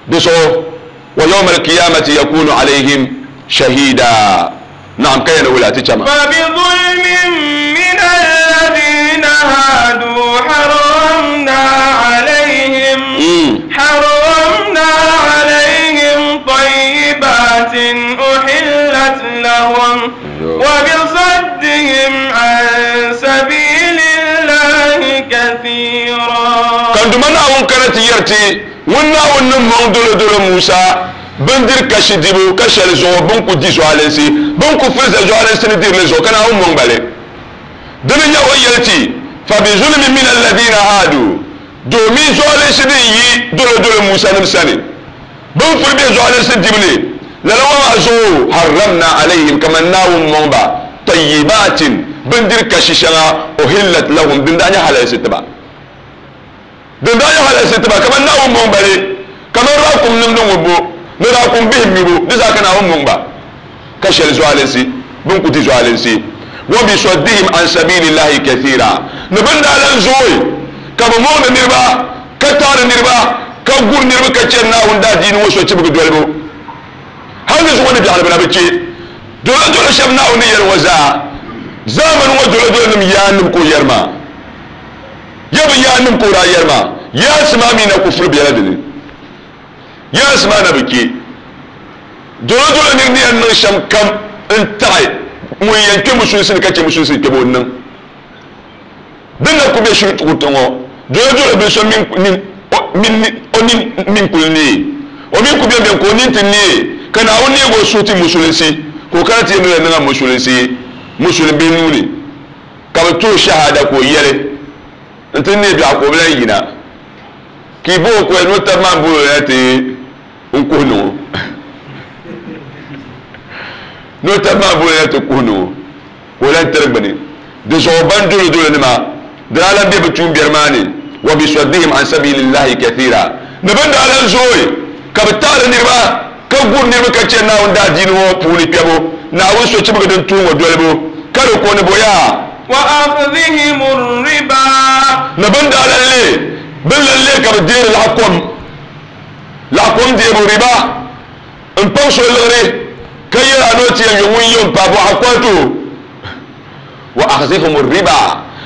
Di zuɣu, wa yawma alqiyamati yakunu alayhim shahida. Naam, ka yɛli wula ti chama? فبظلم من الذين هادوا حرمنا عليهم حرمنا عليهم طيبات أحلت لهم وبصدهم عن سبيل الله كثيرا. Kan duma Naawuni kana ti yɛri ti ŋun Naawuni ni mɔŋ dolodolo Musa bindiri kashi dibu ka shɛli zuɣu bɛ ni ku di zualinsi, bɛ ni ku filiza zualinsi ni diri li zuɣu ka Naawuni mɔŋ ba li. Dini n-nyɛ o ni yɛli ti, Fabizulmin min alladhina haadu, domin zualinsi din yi dolodolo Musa nim sani, bɛ ni firi bɛ zualinsi dibu ni, lala ŋɔ maa zuɣu harramna alayhim, kaman Naawuni mɔŋ ba, tayyibaatin, bindiri kashi shɛŋa, uhillat lahum, din daa nyɛ halalisi ti ba. Din daa nyɛ halalisi ti ba, kaman Naawuni mɔŋ ba li, kaman raakum nimdi ŋubbu ni raakum bihim nyubu, di zaa ka Naawuni mɔŋ ba, ka shɛli zualinsi, bɛ ni ku di zualinsi. Wa bisaddihim an sabiilillahi kathiira, ni bɛ ni daa lan zooi ka bɛ mɔŋdi niriba, ka taɣiri niriba, ka guri niriba ka chɛri Naawuni daadiini ŋɔ sochibigi dolibu. Hal di zuɣu ni biɛɣuni bɛ na bi chɛ dolodolo shɛba Naawuni ni yɛli ŋɔ zaa. Zaamani ŋɔ dolodolonim yaannim ka o yɛri maa. Ya bi yaannim ka o daa yɛri maa, Yaansi maa mi na ku furi bela di ni. Yaansi maa na bi kpe. Dolodolo nir ni yɛn niŋ shɛm kam n-taɣi ŋun yɛn kpe musulinsi ni ka chɛ musulinsi kpɛbu o ni niŋ. Din na ku be shiri kuriti ŋɔ, dolodolo bi so min o nin min kuli neei. O mi ku beni beni ka o nin ti neei, ka Naawuni neeg o suhu ti musulinsi, ka o kana ti yɛn niŋ niŋa musulinsi musulin bihi nuu ni. Ka bɛ ti o shahada ka o yɛli, N ti neei biɛɣu ka o bi lan yina. Ka yi bo o koya ni o taba maa m-bol o na ti n kuhi niŋ o. Ni o taba maa bol o na ti kuhi niŋ o, ka o lan tiri gbini. Di zuɣu ban dolodolonima di daa lan be bɛ tuumbiɛri maa ni, wa bisaddihim an sabilillahi kathira, ni bɛ ni daa lan zooi ka bɛ taɣiri niriba ka guri niriba ka chɛ Naawuni daadiini ŋɔ puuni kpɛbu, Naawuni sochibigi din tuhi ŋɔ dolibu, ka di ko ni bo yaa. Wa akhdhihim riba. Ni bɛ ni daa lan leei bɛ ni lan leei ka bɛ deeri laɣikom, laɣikom deebu, riba, m-paŋ so liɣiri ka yɛl a ni o ti yɛn yo ŋun yo m-paai bɔɣa kɔhi ti o. Wa akhdhihim riba,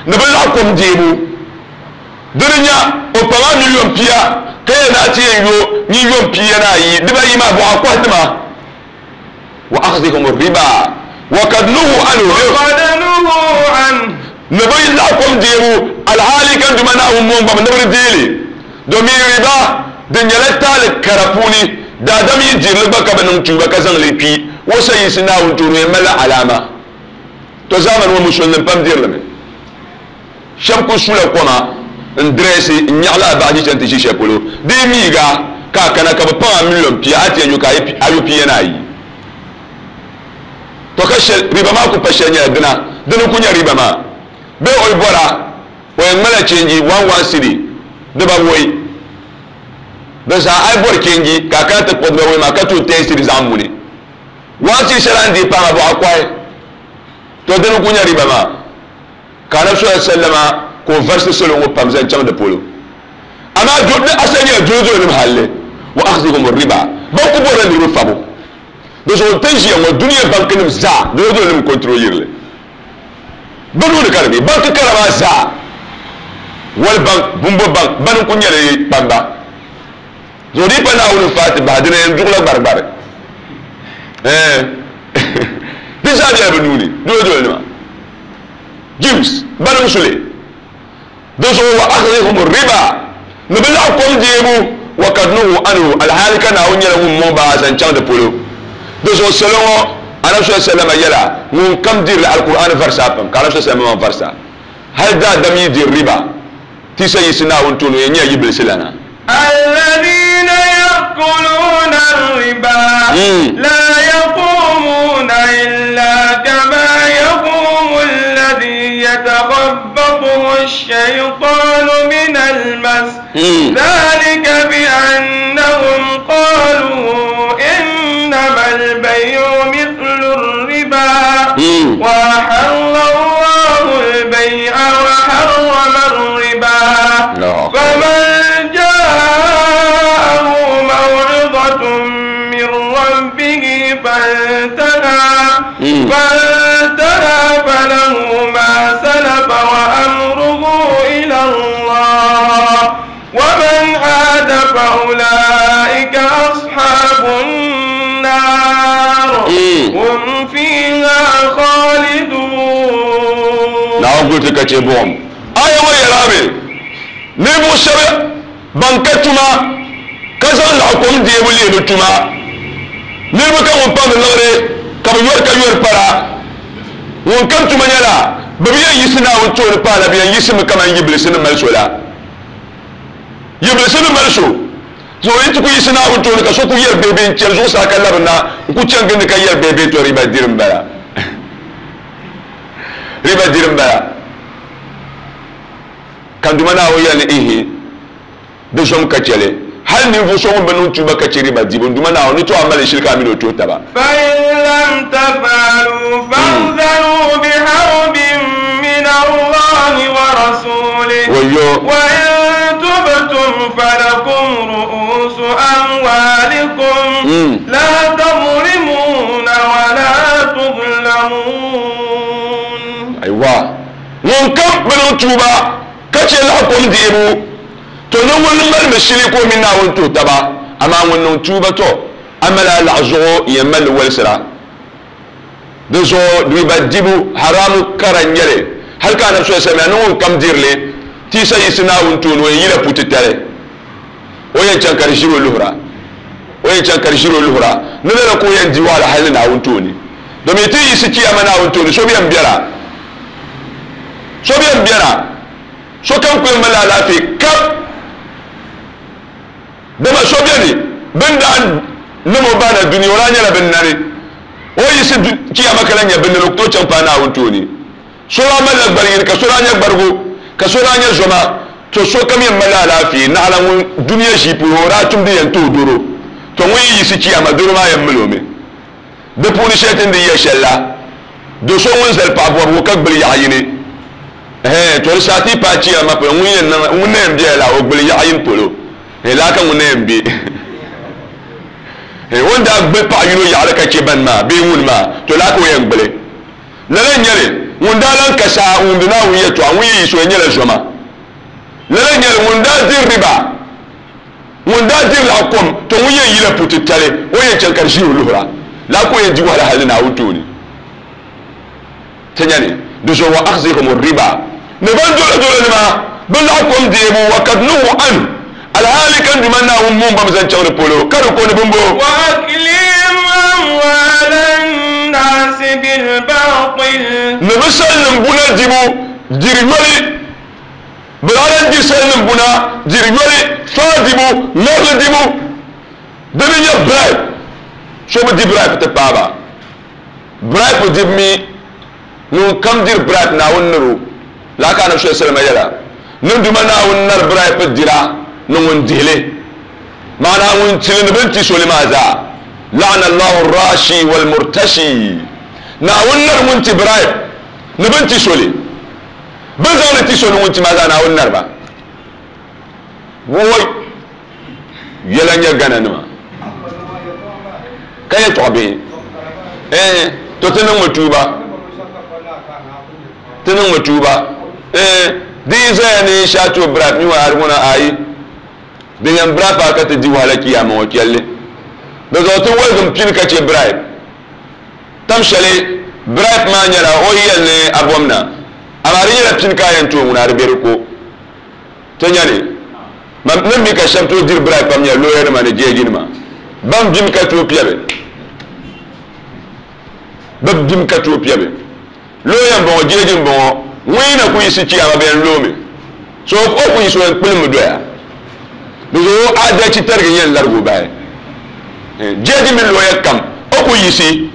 ni bɛ laɣikom deebu. Di ni nya o paŋ a miliyon pia ka yɛli ni a ti yɛn yo miliyon pia ni ayi dibayi maa bɔɣa kɔhi ti ma. Wa akhdhihim riba wa kad nuhu anhu. Wa qad nuhu anhu. Ni bɛ laɣikom deebu alhaali ka Duuma Naawuni mɔŋ ba mi ni bɛ di deei li, domin riba din nyɛla taali kara puuni daadam yi diri li gba ka bi niŋ tuuba ka zaŋ li kpi o sayinsi Naawuni tooni o yɛn malila alaama. To zaamani ŋɔ musulinim pam diri li mi. Shɛba kuli sula koma n-dirɛsi n-nyaɣi lala baɣa chani ti ʒi shɛli polo. Di yi miiga ka a kana ka bɛ paŋ a miliyon pia, a ti yɛn yo ka a yo pia ni ayi. Tɔ ka shɛli, riba maa ku pa shɛli nyɛla dina, dini n-ku nyɛ riba maa. Bee o yi bɔra, o yɛn ŋmala chenji one one cedi dibawɔi. Di zaa a yi bɔri chenji ka a kana ti kpuɣi dibawɔi maa ka tooi ten cedi zaŋ muni. One cedi shɛli a ni deei paai maa bɔɣa kɔhi. Tɔ dini n-ku nyɛ riba maa. Ka Anabi sallallahu alaihi wasallama ka o varisi salo ŋɔ pam zaŋ chaŋ di polo. Amaa di asali nyɛla dolodolonim halli, wa akhdhihum riba, ban ku bɔrila niriba fabu. Di zuɣu ti ni ʒiya ŋɔ dunia bankinim zaa dolodolonim n-control yiri li. Bɛ nuuni ka di be. Banki kara maa zaa, World Bank, Bumbo Bank, bani n-kuli nyɛ di kpamba. Zuɣu di yi pa Naawuni n-faai ti bahi, di na yɛn duɣila gbarigbari. Ɛɛn. Di zaa bela bɛ nuuni, dolodolo nima. Jews, bani n-su li. Di zuɣu wa akhdhihum riba, ni bɛ laɣi kom deebu, wa kad nuhu anhu, alhaali ka Naawuni nyɛla ŋun mɔŋ ba zaŋ chaŋ di polo. Di zuɣu salo ŋɔ, Anabi sallallahu alayhi wa sallama yɛla, ŋun kam dirili Alkur'aani varisa pam, ka Anabi sallallahu alayhi wa sallama varisa. Hali daadam yi diri riba, ti sa yiɣisi Naawuni tooni, o yɛn nyɛla yibilisi lana. الذين يأكلون الربا لا يقومون إلا كما يقوم الذي يتخبطه الشيطان من المس ذلك بأنهم قالوا إنما البيع مثل الربا وأحل الله البيع وحرم الربا فمن جاءه موعظة من ربه فانتهى فله ما سلف وأمره إلى الله ومن عاد فأولئك أصحاب النار هم فيها خالدون. Naawuni kuli ti ka chɛ buɣim aya ŋɔ yɛla mi ninvuɣ shɛba ban ka tuma ka zaŋ laɣ kom deebu leei bɛ tuma. Niriba ka ŋun pamdi liɣiri ka bɛ yɔri ka yɔri para. Ŋun kam tuma nyɛla bɛ bi yɛn yiɣisi Naawuni tooni paai la, bɛ yɛn yiɣisimi kaman yibilisi ni mali so la. Yibilisi ni mali so zuɣu yi ti ku yiɣisi Naawuni tooni ka so ku yɛri beebee n-chani zuɣusaa ka labina n-ku chani gindi ka yɛri beebee tɔ riba diri m-bala. Riba diri m-bala. Ka Duuma Naawuni yɛli ni ihi, di zom ka chɛ li. Hal ninvuɣ so ŋun bi niŋ tuuba ka chɛ riba dibu, n Duuma Naawuni ni tooi a mali shili ka a min o tuhi taba. فإن لم تفعلوا فأذنوا بحرب من الله ورسوله Wayyo! وإن تبتم فلكم رؤوس أموالكم لا تظلمون ولا تظلمون. Aiwa! Ŋunkam bi niŋ tuuba ka chɛ laɣ kom deebu, to ni ŋun malimi shili ka o mini Naawuni tuhi taba, amaa ŋun niŋ tuuba, to a mali a laɣ zuɣu yɛn mali li wolisira. Di zuɣu riba dibu haramu kara n-nyɛ li, hal ka Anabi sallallahu alaihi wasallam ni ŋunkam diri li ti sa yiɣisi Naawuni tooni, o yɛn yila putitali, o yɛn chaŋ ka di ʒiri o luhira, o yɛn chaŋ ka di ʒiri o luhira, ni lala ka o yɛn di wahala hal ni Naawuni tooni. Domin ti yiɣisi Chiyaama Naawuni tooni, so bi yɛn bɛra, so bi yɛn bɛra, sokam ku yɛn mali alaafee kap. Dama so beni bɛ ni daa niŋ o bahina dunia, o daa nyɛla bɛ nani. O yiɣisi Chiyaama ka lan nyɛ bɛ nani, o ku tooi chaŋ paai Naawuni tooni. So daa malila gbari yini, ka so daa nyɛ gbarigu, ka so daa nyɛ zoma. To sokam yɛn mali alaafee, naɣila ŋun dunia ʒii puuni o daa tumdi yɛn ti o doro. To ŋun yi yiɣisi Chiyaama, doro maa yɛn mali o mi. Di puuni shɛli ti ni di yɛli shɛli la, do so ŋun zali paɣ bɔbigu ka gbili yaɣ yini, ɛhɛn, to di saha ti yi paai Chiyaama polo, ŋun yɛn niŋ, ŋun na yɛn bela la o gbili yaɣ yini polo, ɛhɛn, lala ka ŋun na yɛn be. Ɛhɛn, o ni daa gbili paɣ yino yaɣili ka chɛ ban maa bee ŋun maa, to lala ka o yɛn gbili. Lala n-nyɛ li, ŋun daa lan ka saa n-wumdi Naawuni yɛtɔɣa, ŋun yi yiɣisi o yɛn nyɛla zoma. Lala n-nyɛ li, ŋun daa diri riba, Ŋun daa diri laɣ kom, to ŋun yɛn yila pu titali, o yɛn chaŋ ka di ʒiri o luhira. Lala ka o yɛn di wahala hal ni Naawuni tooni. Ti nya ni di zuɣu wa akhzihum riba, ni ban dolodolonima bɛ laɣ kom deebu, wa kad nuhu anhu, alhaali ka n Duuma Naawuni muŋ ba mi zaŋ chaŋ di polo, ka di ko ni bimbo. Wa aklihim amwala nnaasi bilbatil. Ni bɛ salinim buna dibu diri yoli. Bɛ daa lan di salinim buna diri yoli, faa dibu, ŋarili dibu. Di ni nyɛ bribe, so bi di bribe ti paai ba. Bribe dibu mi, ŋun kam diri bribe Naawuni ni di o. Lala ka Anabi sallallahu alaihi wasallam yɛla, Ni Duuma Naawuni nari bribe dira ni ŋun dihi li. Maana ŋun ti li ni bɛ ni ti so li maa zaa. La'ana Allahu ar-rashi wal-murtashi. Naawuni nari ŋun ti bribe ni bɛ ni ti so li. Bɛ zaŋ li ti so ni ŋun ti maa zaa Naawuni nariba. Woi! Yɛla n-nyɛ Ghana nima ka yɛtɔɣ bihi. Ɛɛn, to ti niŋmi tuuba. Ti niŋmi tuuba. Di yi zaya ni shee a tooi bribe mi wa ŋuna ayi. Din yɛn bribe a ka ti di wahala kiyama ŋɔ chɛlli. Di zuɣu ti waligim pini ka chɛ bribe. Tam shɛli bribe maa nyɛla o yi yɛli ni a bom na, amaa di nyɛla pini ka a yɛn tooi ŋuna a di be di ko. Ti nya ni man ni mi ka shɛba tooi diri bribe pam nyɛla looya nima ni jeeji nima. Ban bim ka tooi piɛbi. Bɛ bim ka tooi piɛbi. Looya m-bɔŋɔ, jeeji m-bɔŋɔ, ŋun yi na ku yiɣisi chiyaama bɛ yɛn loomi. So o ku yiɣisi o yɛn kpulimi doya. Di zuɣu o aadalchi tarigi n-yɛn larigi o bahi. Jeeji mini looya kam, o ku yiɣisi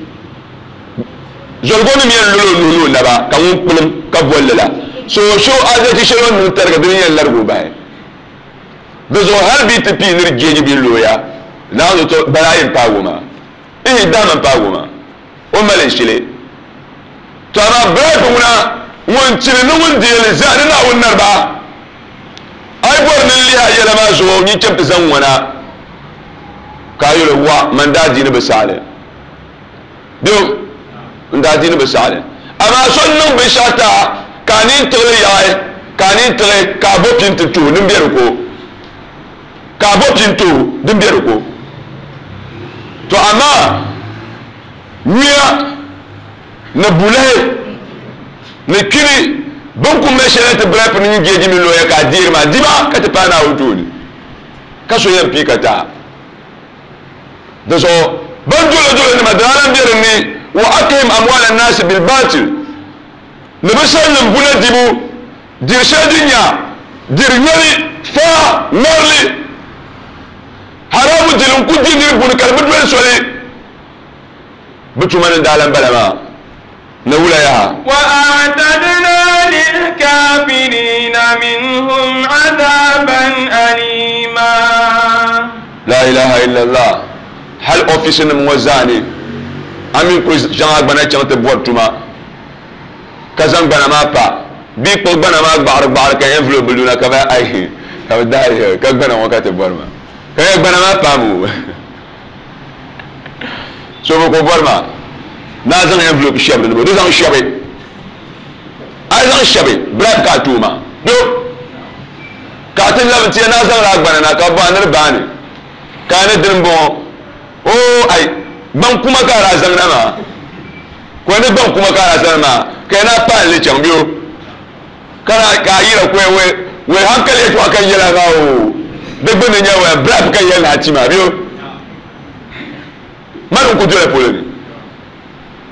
zoligonim yɛn lol o nuhi ni o naba ka ŋun kpulim ka bolli la. So o aadalchi shɛli o ni niŋ tariga dini n-yɛn larigi o bahi. Di zuɣu hali bɛ yi ti pii nir jeeji bee looya, Naawuni to balaayi m-paagi o maa. Ihi dama m-paagi o maa. O mali shili. To amaa bribe ŋuna ŋun tiri ni ŋun deei li zaa ni Naawuni nariba. A yi bɔri ni n lihi a yɛla maa zuɣu, nyin cham ti zaŋ ŋɔna ka a yɛl o, Wa, man daa diini bi saɣi li. Bɛ n daa diini bi saɣi li. Amaa so n-niŋ binshɛɣu ti a ka a nini tiɣi li yaɣi, ka a nini tiɣi ka a bo pini ti tuhi din be di ko. Ka a bo pini tuhi din be di ko. To amaa nyuya ni bulahi ni kpini bɛn ku mali shɛli ti bribe ni nyin jeeji mini looya ka a deeri maa diba ka ti paai Naawuni tooni ka so yɛn pii ka ti a. Di zuɣu bɛn dolodolo nima daa lan be din ni, wa aklihim amwaal annaasi bilbaatil, ni bɛ salinim buna dibu, diri shɛli din nya diri yoli, faa, ŋarili, haramu dili n-ku di nir buni ka di bi doli soli. Bɛ tuma ni daa lan bala maa, ni wula yaha? وأعتدنا للكافرين منهم عذابا أليما. La ilaha illallah. Hali ofiisi nim ŋɔ zaa ni, a mi kuli zaŋ a gbana chaŋ ti bɔri tuma ka zaŋ gbana maa pa bee kpuɣi gbana maa gbaɣiri gbaɣiri ka envelope bi luna ka bɛ ayi ka bɛ dahi ka gbana ŋɔ ka ti bɔri maa ka yɛ gbana maa paami o. So bi ku bɔri maa ni a zaŋ envelope shɛbi di ni di zaŋ shɛbi a yi zaŋ shɛbi bribe ka a tooi maa do ka a ti labi n-ti ya ni a zaŋla a gbana na ka bɛ bɔhi a ni di baani ka a ni dini m-bɔŋɔ oo ai gbaŋ kuma ka a daa zaŋ na maa ko ni gbaŋ kuma ka a daa zaŋ na maa ka ya ni a paai li chaŋ bɛ o ka na ka a yira ko ya wɛ wɛ hankali yɛltɔɣa ka n yɛli a maa oo di gbunni nyɛ wɛ bribe ka n yɛli ni a ti maa bɛ o mani n ku dola polo ni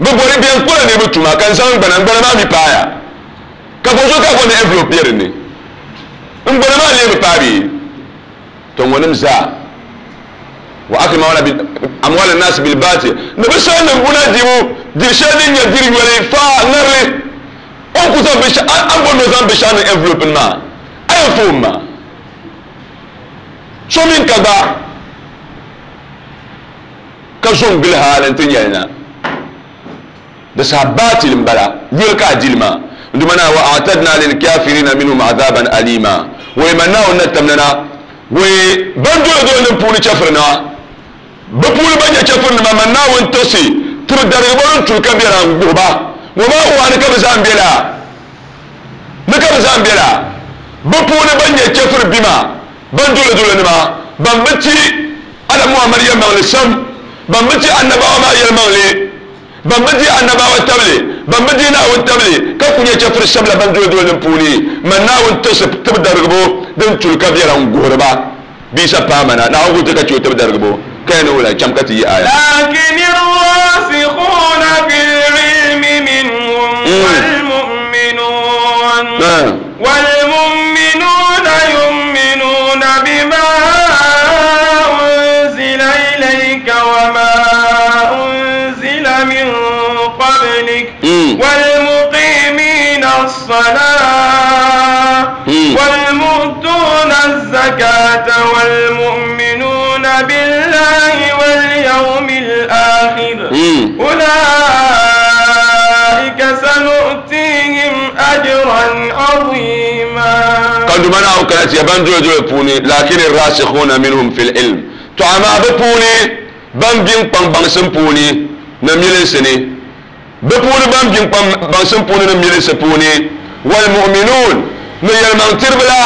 bɛ bɔri bɛn kpɔla niriba tuma ka n zaŋ n gbana n gbana maa mi paaya ka bɔ zuɣu ka bɔ ni envelope be din ni n gbana maa lee bi paai bee to ŋɔnim zaa wa akil amwal an-nas bil batil ni bɛ sali nim buna dibu diri shɛli din nyɛ diri yoli faa ŋarili o ni ku zaŋ binshɛɣu a ni bɔri ni o zaŋ binshɛɣu niŋ envelope ni maa a yɛn foom maa so mini ka gba ka zo n-gili hali nti nyɛli na. Di saha baatil m-bala, yoli ka a dili maa. N Duuma Naa, wa a'tadna lilkafirina minhum azaban alima. Wee man Naawuni na tamda na, wee ban dolodolo nim puuni chɛfurinima, bɛ puuni ban nyɛ chɛfurinima, man Naawuni tiɣisi tiri darigibo din tuli ka bela n-guhi ba. Ŋɔ maa waani ka bɛ zaa m-be laa? Ni ka bɛ zaa m-be laa? Bɛ puuni ban nyɛ chɛfuri bima, ban dolodolonima, ban bi ti Annabi Muhammad yɛlimaŋli sam, ban bi ti Annabawa maa yɛlimaŋli, ban bi dihi Annabawa tabili, ban bi dihi Naawuni tabili, ka ku nyɛ chɛfuri shɛba la ban dolodolonim puuni, man Naawuni tiɣisi tibidarigibo din tuli ka biɛla n-guhiri ba. Bia sa paai ma na, Naawuni ku ti ka chɛ o tibidarigibo, ka ya ni wula? Cham ka ti yi aya. لكن الراسخون في العلم منهم والمؤمنون والمؤمنون يؤمنون بما أنزل إليك وما أنزل من قبلك والمقيمين الصلاة والمؤتون الزكاة والمؤمنون بالله واليوم الآخر أولئك سنؤتيهم أجرا عظيما. Ka Duuma Naawuni kana ti ya ban dolodolo puuni, lakin ar-rasikhuna minhum fil ilm, to amaa bɛ puuni ban be n-kpaŋ baŋsim puuni ni milinsi ni. Bɛ puuni ban biŋkpam baŋsim puuni ni milisi puuni, walmu'minuun, ni yɛlimaŋtiriba la,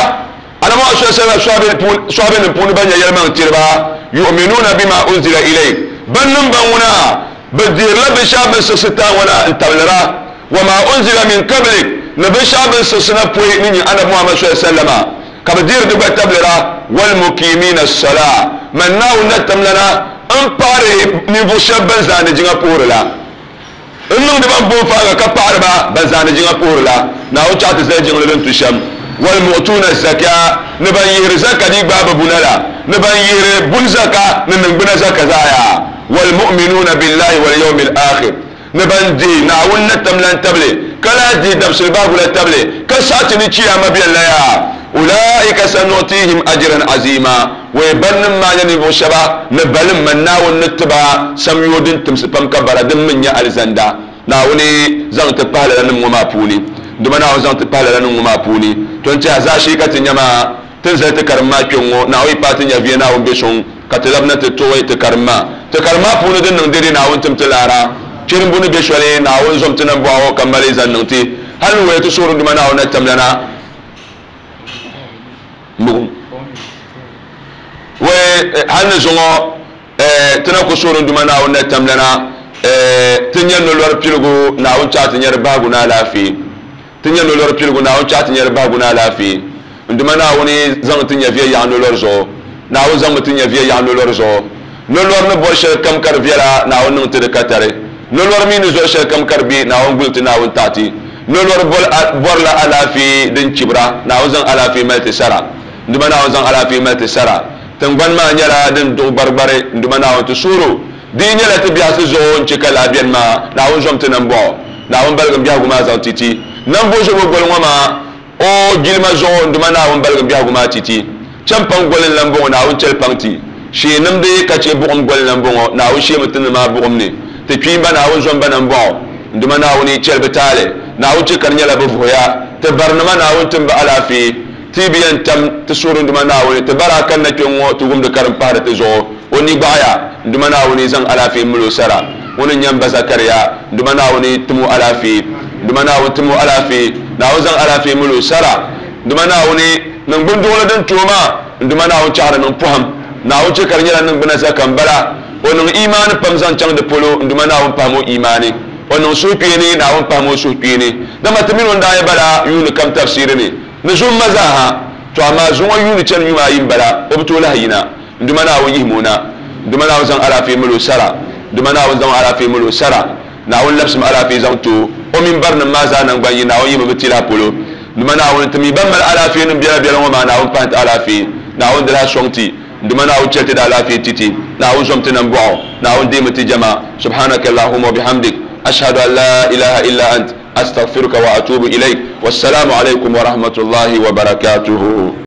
Annabi Muhammad sallallahu alaihi wasallam sɔhibenim puuni ban nyɛ yɛlimaŋtiriba, yu'minuuna bima unzila ilayk, ban niŋ ba ŋuna, bɛ dihirila binshɛɣu bɛ ni siɣisi ti a ŋɔ na n-tabilira, wa ma unzila min qablik, ni binshɛɣu bɛ ni siɣisi na pɔi ni nyini Annabi Muhammad sallallahu alaihi wasallama, ka bɛ dihiri di gba tabilira, walmuqimina as-salaa, Man Naawuni na tamlana m-paɣiri ninvuɣ shɛba ban zaandi jiŋa puhiri la. N niŋdi ba m-booi faaŋa ka paɣiri ba ban zaandi jiŋa puhiri la. Naawuni chaɣ ti zali jiŋli din tu shɛm. Walmu'tuuna az-zakaa, ni ban yihiri zaka di gbaai bɛ buna la, ni ban yihiri buni zaka ni niŋgbuna zaka zaa yaa. Walmu'minuuna billahi walyawmil aakhir, ni ban dihi Naawuni na tamlan tabili, ka lahi dihi dabisili bahigu la tabili, ka saɣi ti ni Chiyaama beni la yaa. Ulaika sanu'tihim ajran azima, wee bannim maa nyɛ ninvuɣ shɛba ni balim man Naawuni ni ti ba samyoo din timsi pam ka bara din mi nyɛ alizanda. Naawuni zaŋ ti pahi lala nim ŋɔ maa puuni. Dama Naawuni zaŋ ti pahi lala nim ŋɔ maa puuni. To n tɛha zaashee ka ti nya maa, ti ni zali ti karim maa kpe ŋ-ŋɔ, Naawuni yi paai ti nyɛviya Naawuni be suŋ ka ti labina ti tuɣi ti karim maa. Ti karim maa puuni din niŋ dɛde Naawuni tim ti laara. Chirimbu ni be shɛli Naawuni zom ti nambɔɣu ka mali zaŋ niŋ ti. Hal ni waya ti suhuri Duuma Naawuni na tamlana. Mbuɣim. Wai hal ni zuŋɔ ti na ku suhuri Duuma Naawuni na tamlana ti nya nolɔri piligu Naawuni chaɣ ti nyari bahigu ni alaafee. Ti nya nolɔri piligu Naawuni chaɣ ti nyari bahigu ni alaafee. N Duuma Naawuni zaŋ ti nyɛviya yaɣi nolɔri zuɣu. Naawuni zaŋmi ti nyɛviya yaɣi nolɔri zuɣu. Nolɔri ni bɔri shɛli kam ka di viɛla, Naawuni niŋ ti di katari. Nolɔri mi ni zɔri shɛli kam ka di be, Naawuni guli ti, Naawuni taɣi ti. Nolɔri bɔrila alaafee din chibira, Naawuni zaŋ alaafee mali ti sara. N Duuma Naawuni zaŋ alaafee mali ti sara. Tiŋgbani maa nyɛla din duɣi gbarigbari, n Duuma Naawuni ti suhir o. Di yi nyɛla ti biɛhisi zuɣu n-chɛ ka lala beni maa, Naawuni zom ti nambɔɣu. Naawuni baligim biɛhigu maa zaŋ ti ti. Nambozobo goli ŋɔ maa, O jilima zuɣu n Duuma Naawuni baligim biɛhigu maa ti ti. Cham paŋ goli n-lan bɔŋɔ, Naawuni chɛli paŋ ti. Shee nimdi ka chɛ buɣim goli n-lan bɔŋɔ, Naawuni sheemi ti ni maa buɣim ni. Ti kpiimba, Naawuni zom ba nambɔɣu. N Duuma Naawuni, chɛli bɛ taali. Naawuni chɛ ka di nyɛla bɛ vuhiya. Ti barinima, Naawuni tim ba alaafee. Ti bi yɛn tam ti suhuri n Duuma Naawuni, ti bara kanna kpe ŋ-ŋɔ ti wumdi ka din pahiri ti zuɣu. O ni gbaɣiya, n Duuma Naawuni, zaŋ alaafee mali o sara. Ŋuni n-nyɛ m ba Zakaria, n Duuma Naawuni, tim o alaafee. N Duuma Naawuni, tim o alaafee. Naawuni zaŋ alaafee mali o sara. N Duuma Naawuni, niŋgbun duɣili din ti o maa, n Duuma Naawuni chaɣiri niŋ pɔhim. Naawuni chɛ ka di nyɛla niŋgbuna zaka m-bala. O niŋ imaani pam zaŋ chaŋ di polo, n Duuma Naawuni pahim o imaani. O niŋ suhukpeeni, Naawuni pahim o suhukpeeni. Dama ti mini o n-daa yɛn bala yuuni kam tafsiiri ni. Ni zuŋ ma zaa ha. To amaa zuŋɔ yuuni chani yuma ayi m-bala, o bi tooi lahi yina. N Duuma Naawuni yihim o na. N Duuma Naawuni zaŋ alaafee mali o sara. N Duuma Naawuni zaŋ alaafee mali o sara. Naawuni labisim alaafee zaŋ ti o. O mini barinim maa zaa naŋgban yi Naawuni yihimi bɛ tilahi polo. N Duuma Naawuni, ti mi ban mali alaafee nim biɛla biɛla ŋɔ maa, Naawuni pahi ti alaafee. Naawuni di lahi sɔŋ ti. N Duuma Naawuni chɛli ti di alaafee ti ti. Naawuni zom ti nambɔɣu. Naawuni deemi ti jɛma. Subhanaka Allahumma wa bihamdik. Ashhadu an la ilaha illa ant. Astaghfiruka wa atubu ilayk. Wassalamu alaykum wa rahmatullahi wa barakatuhu.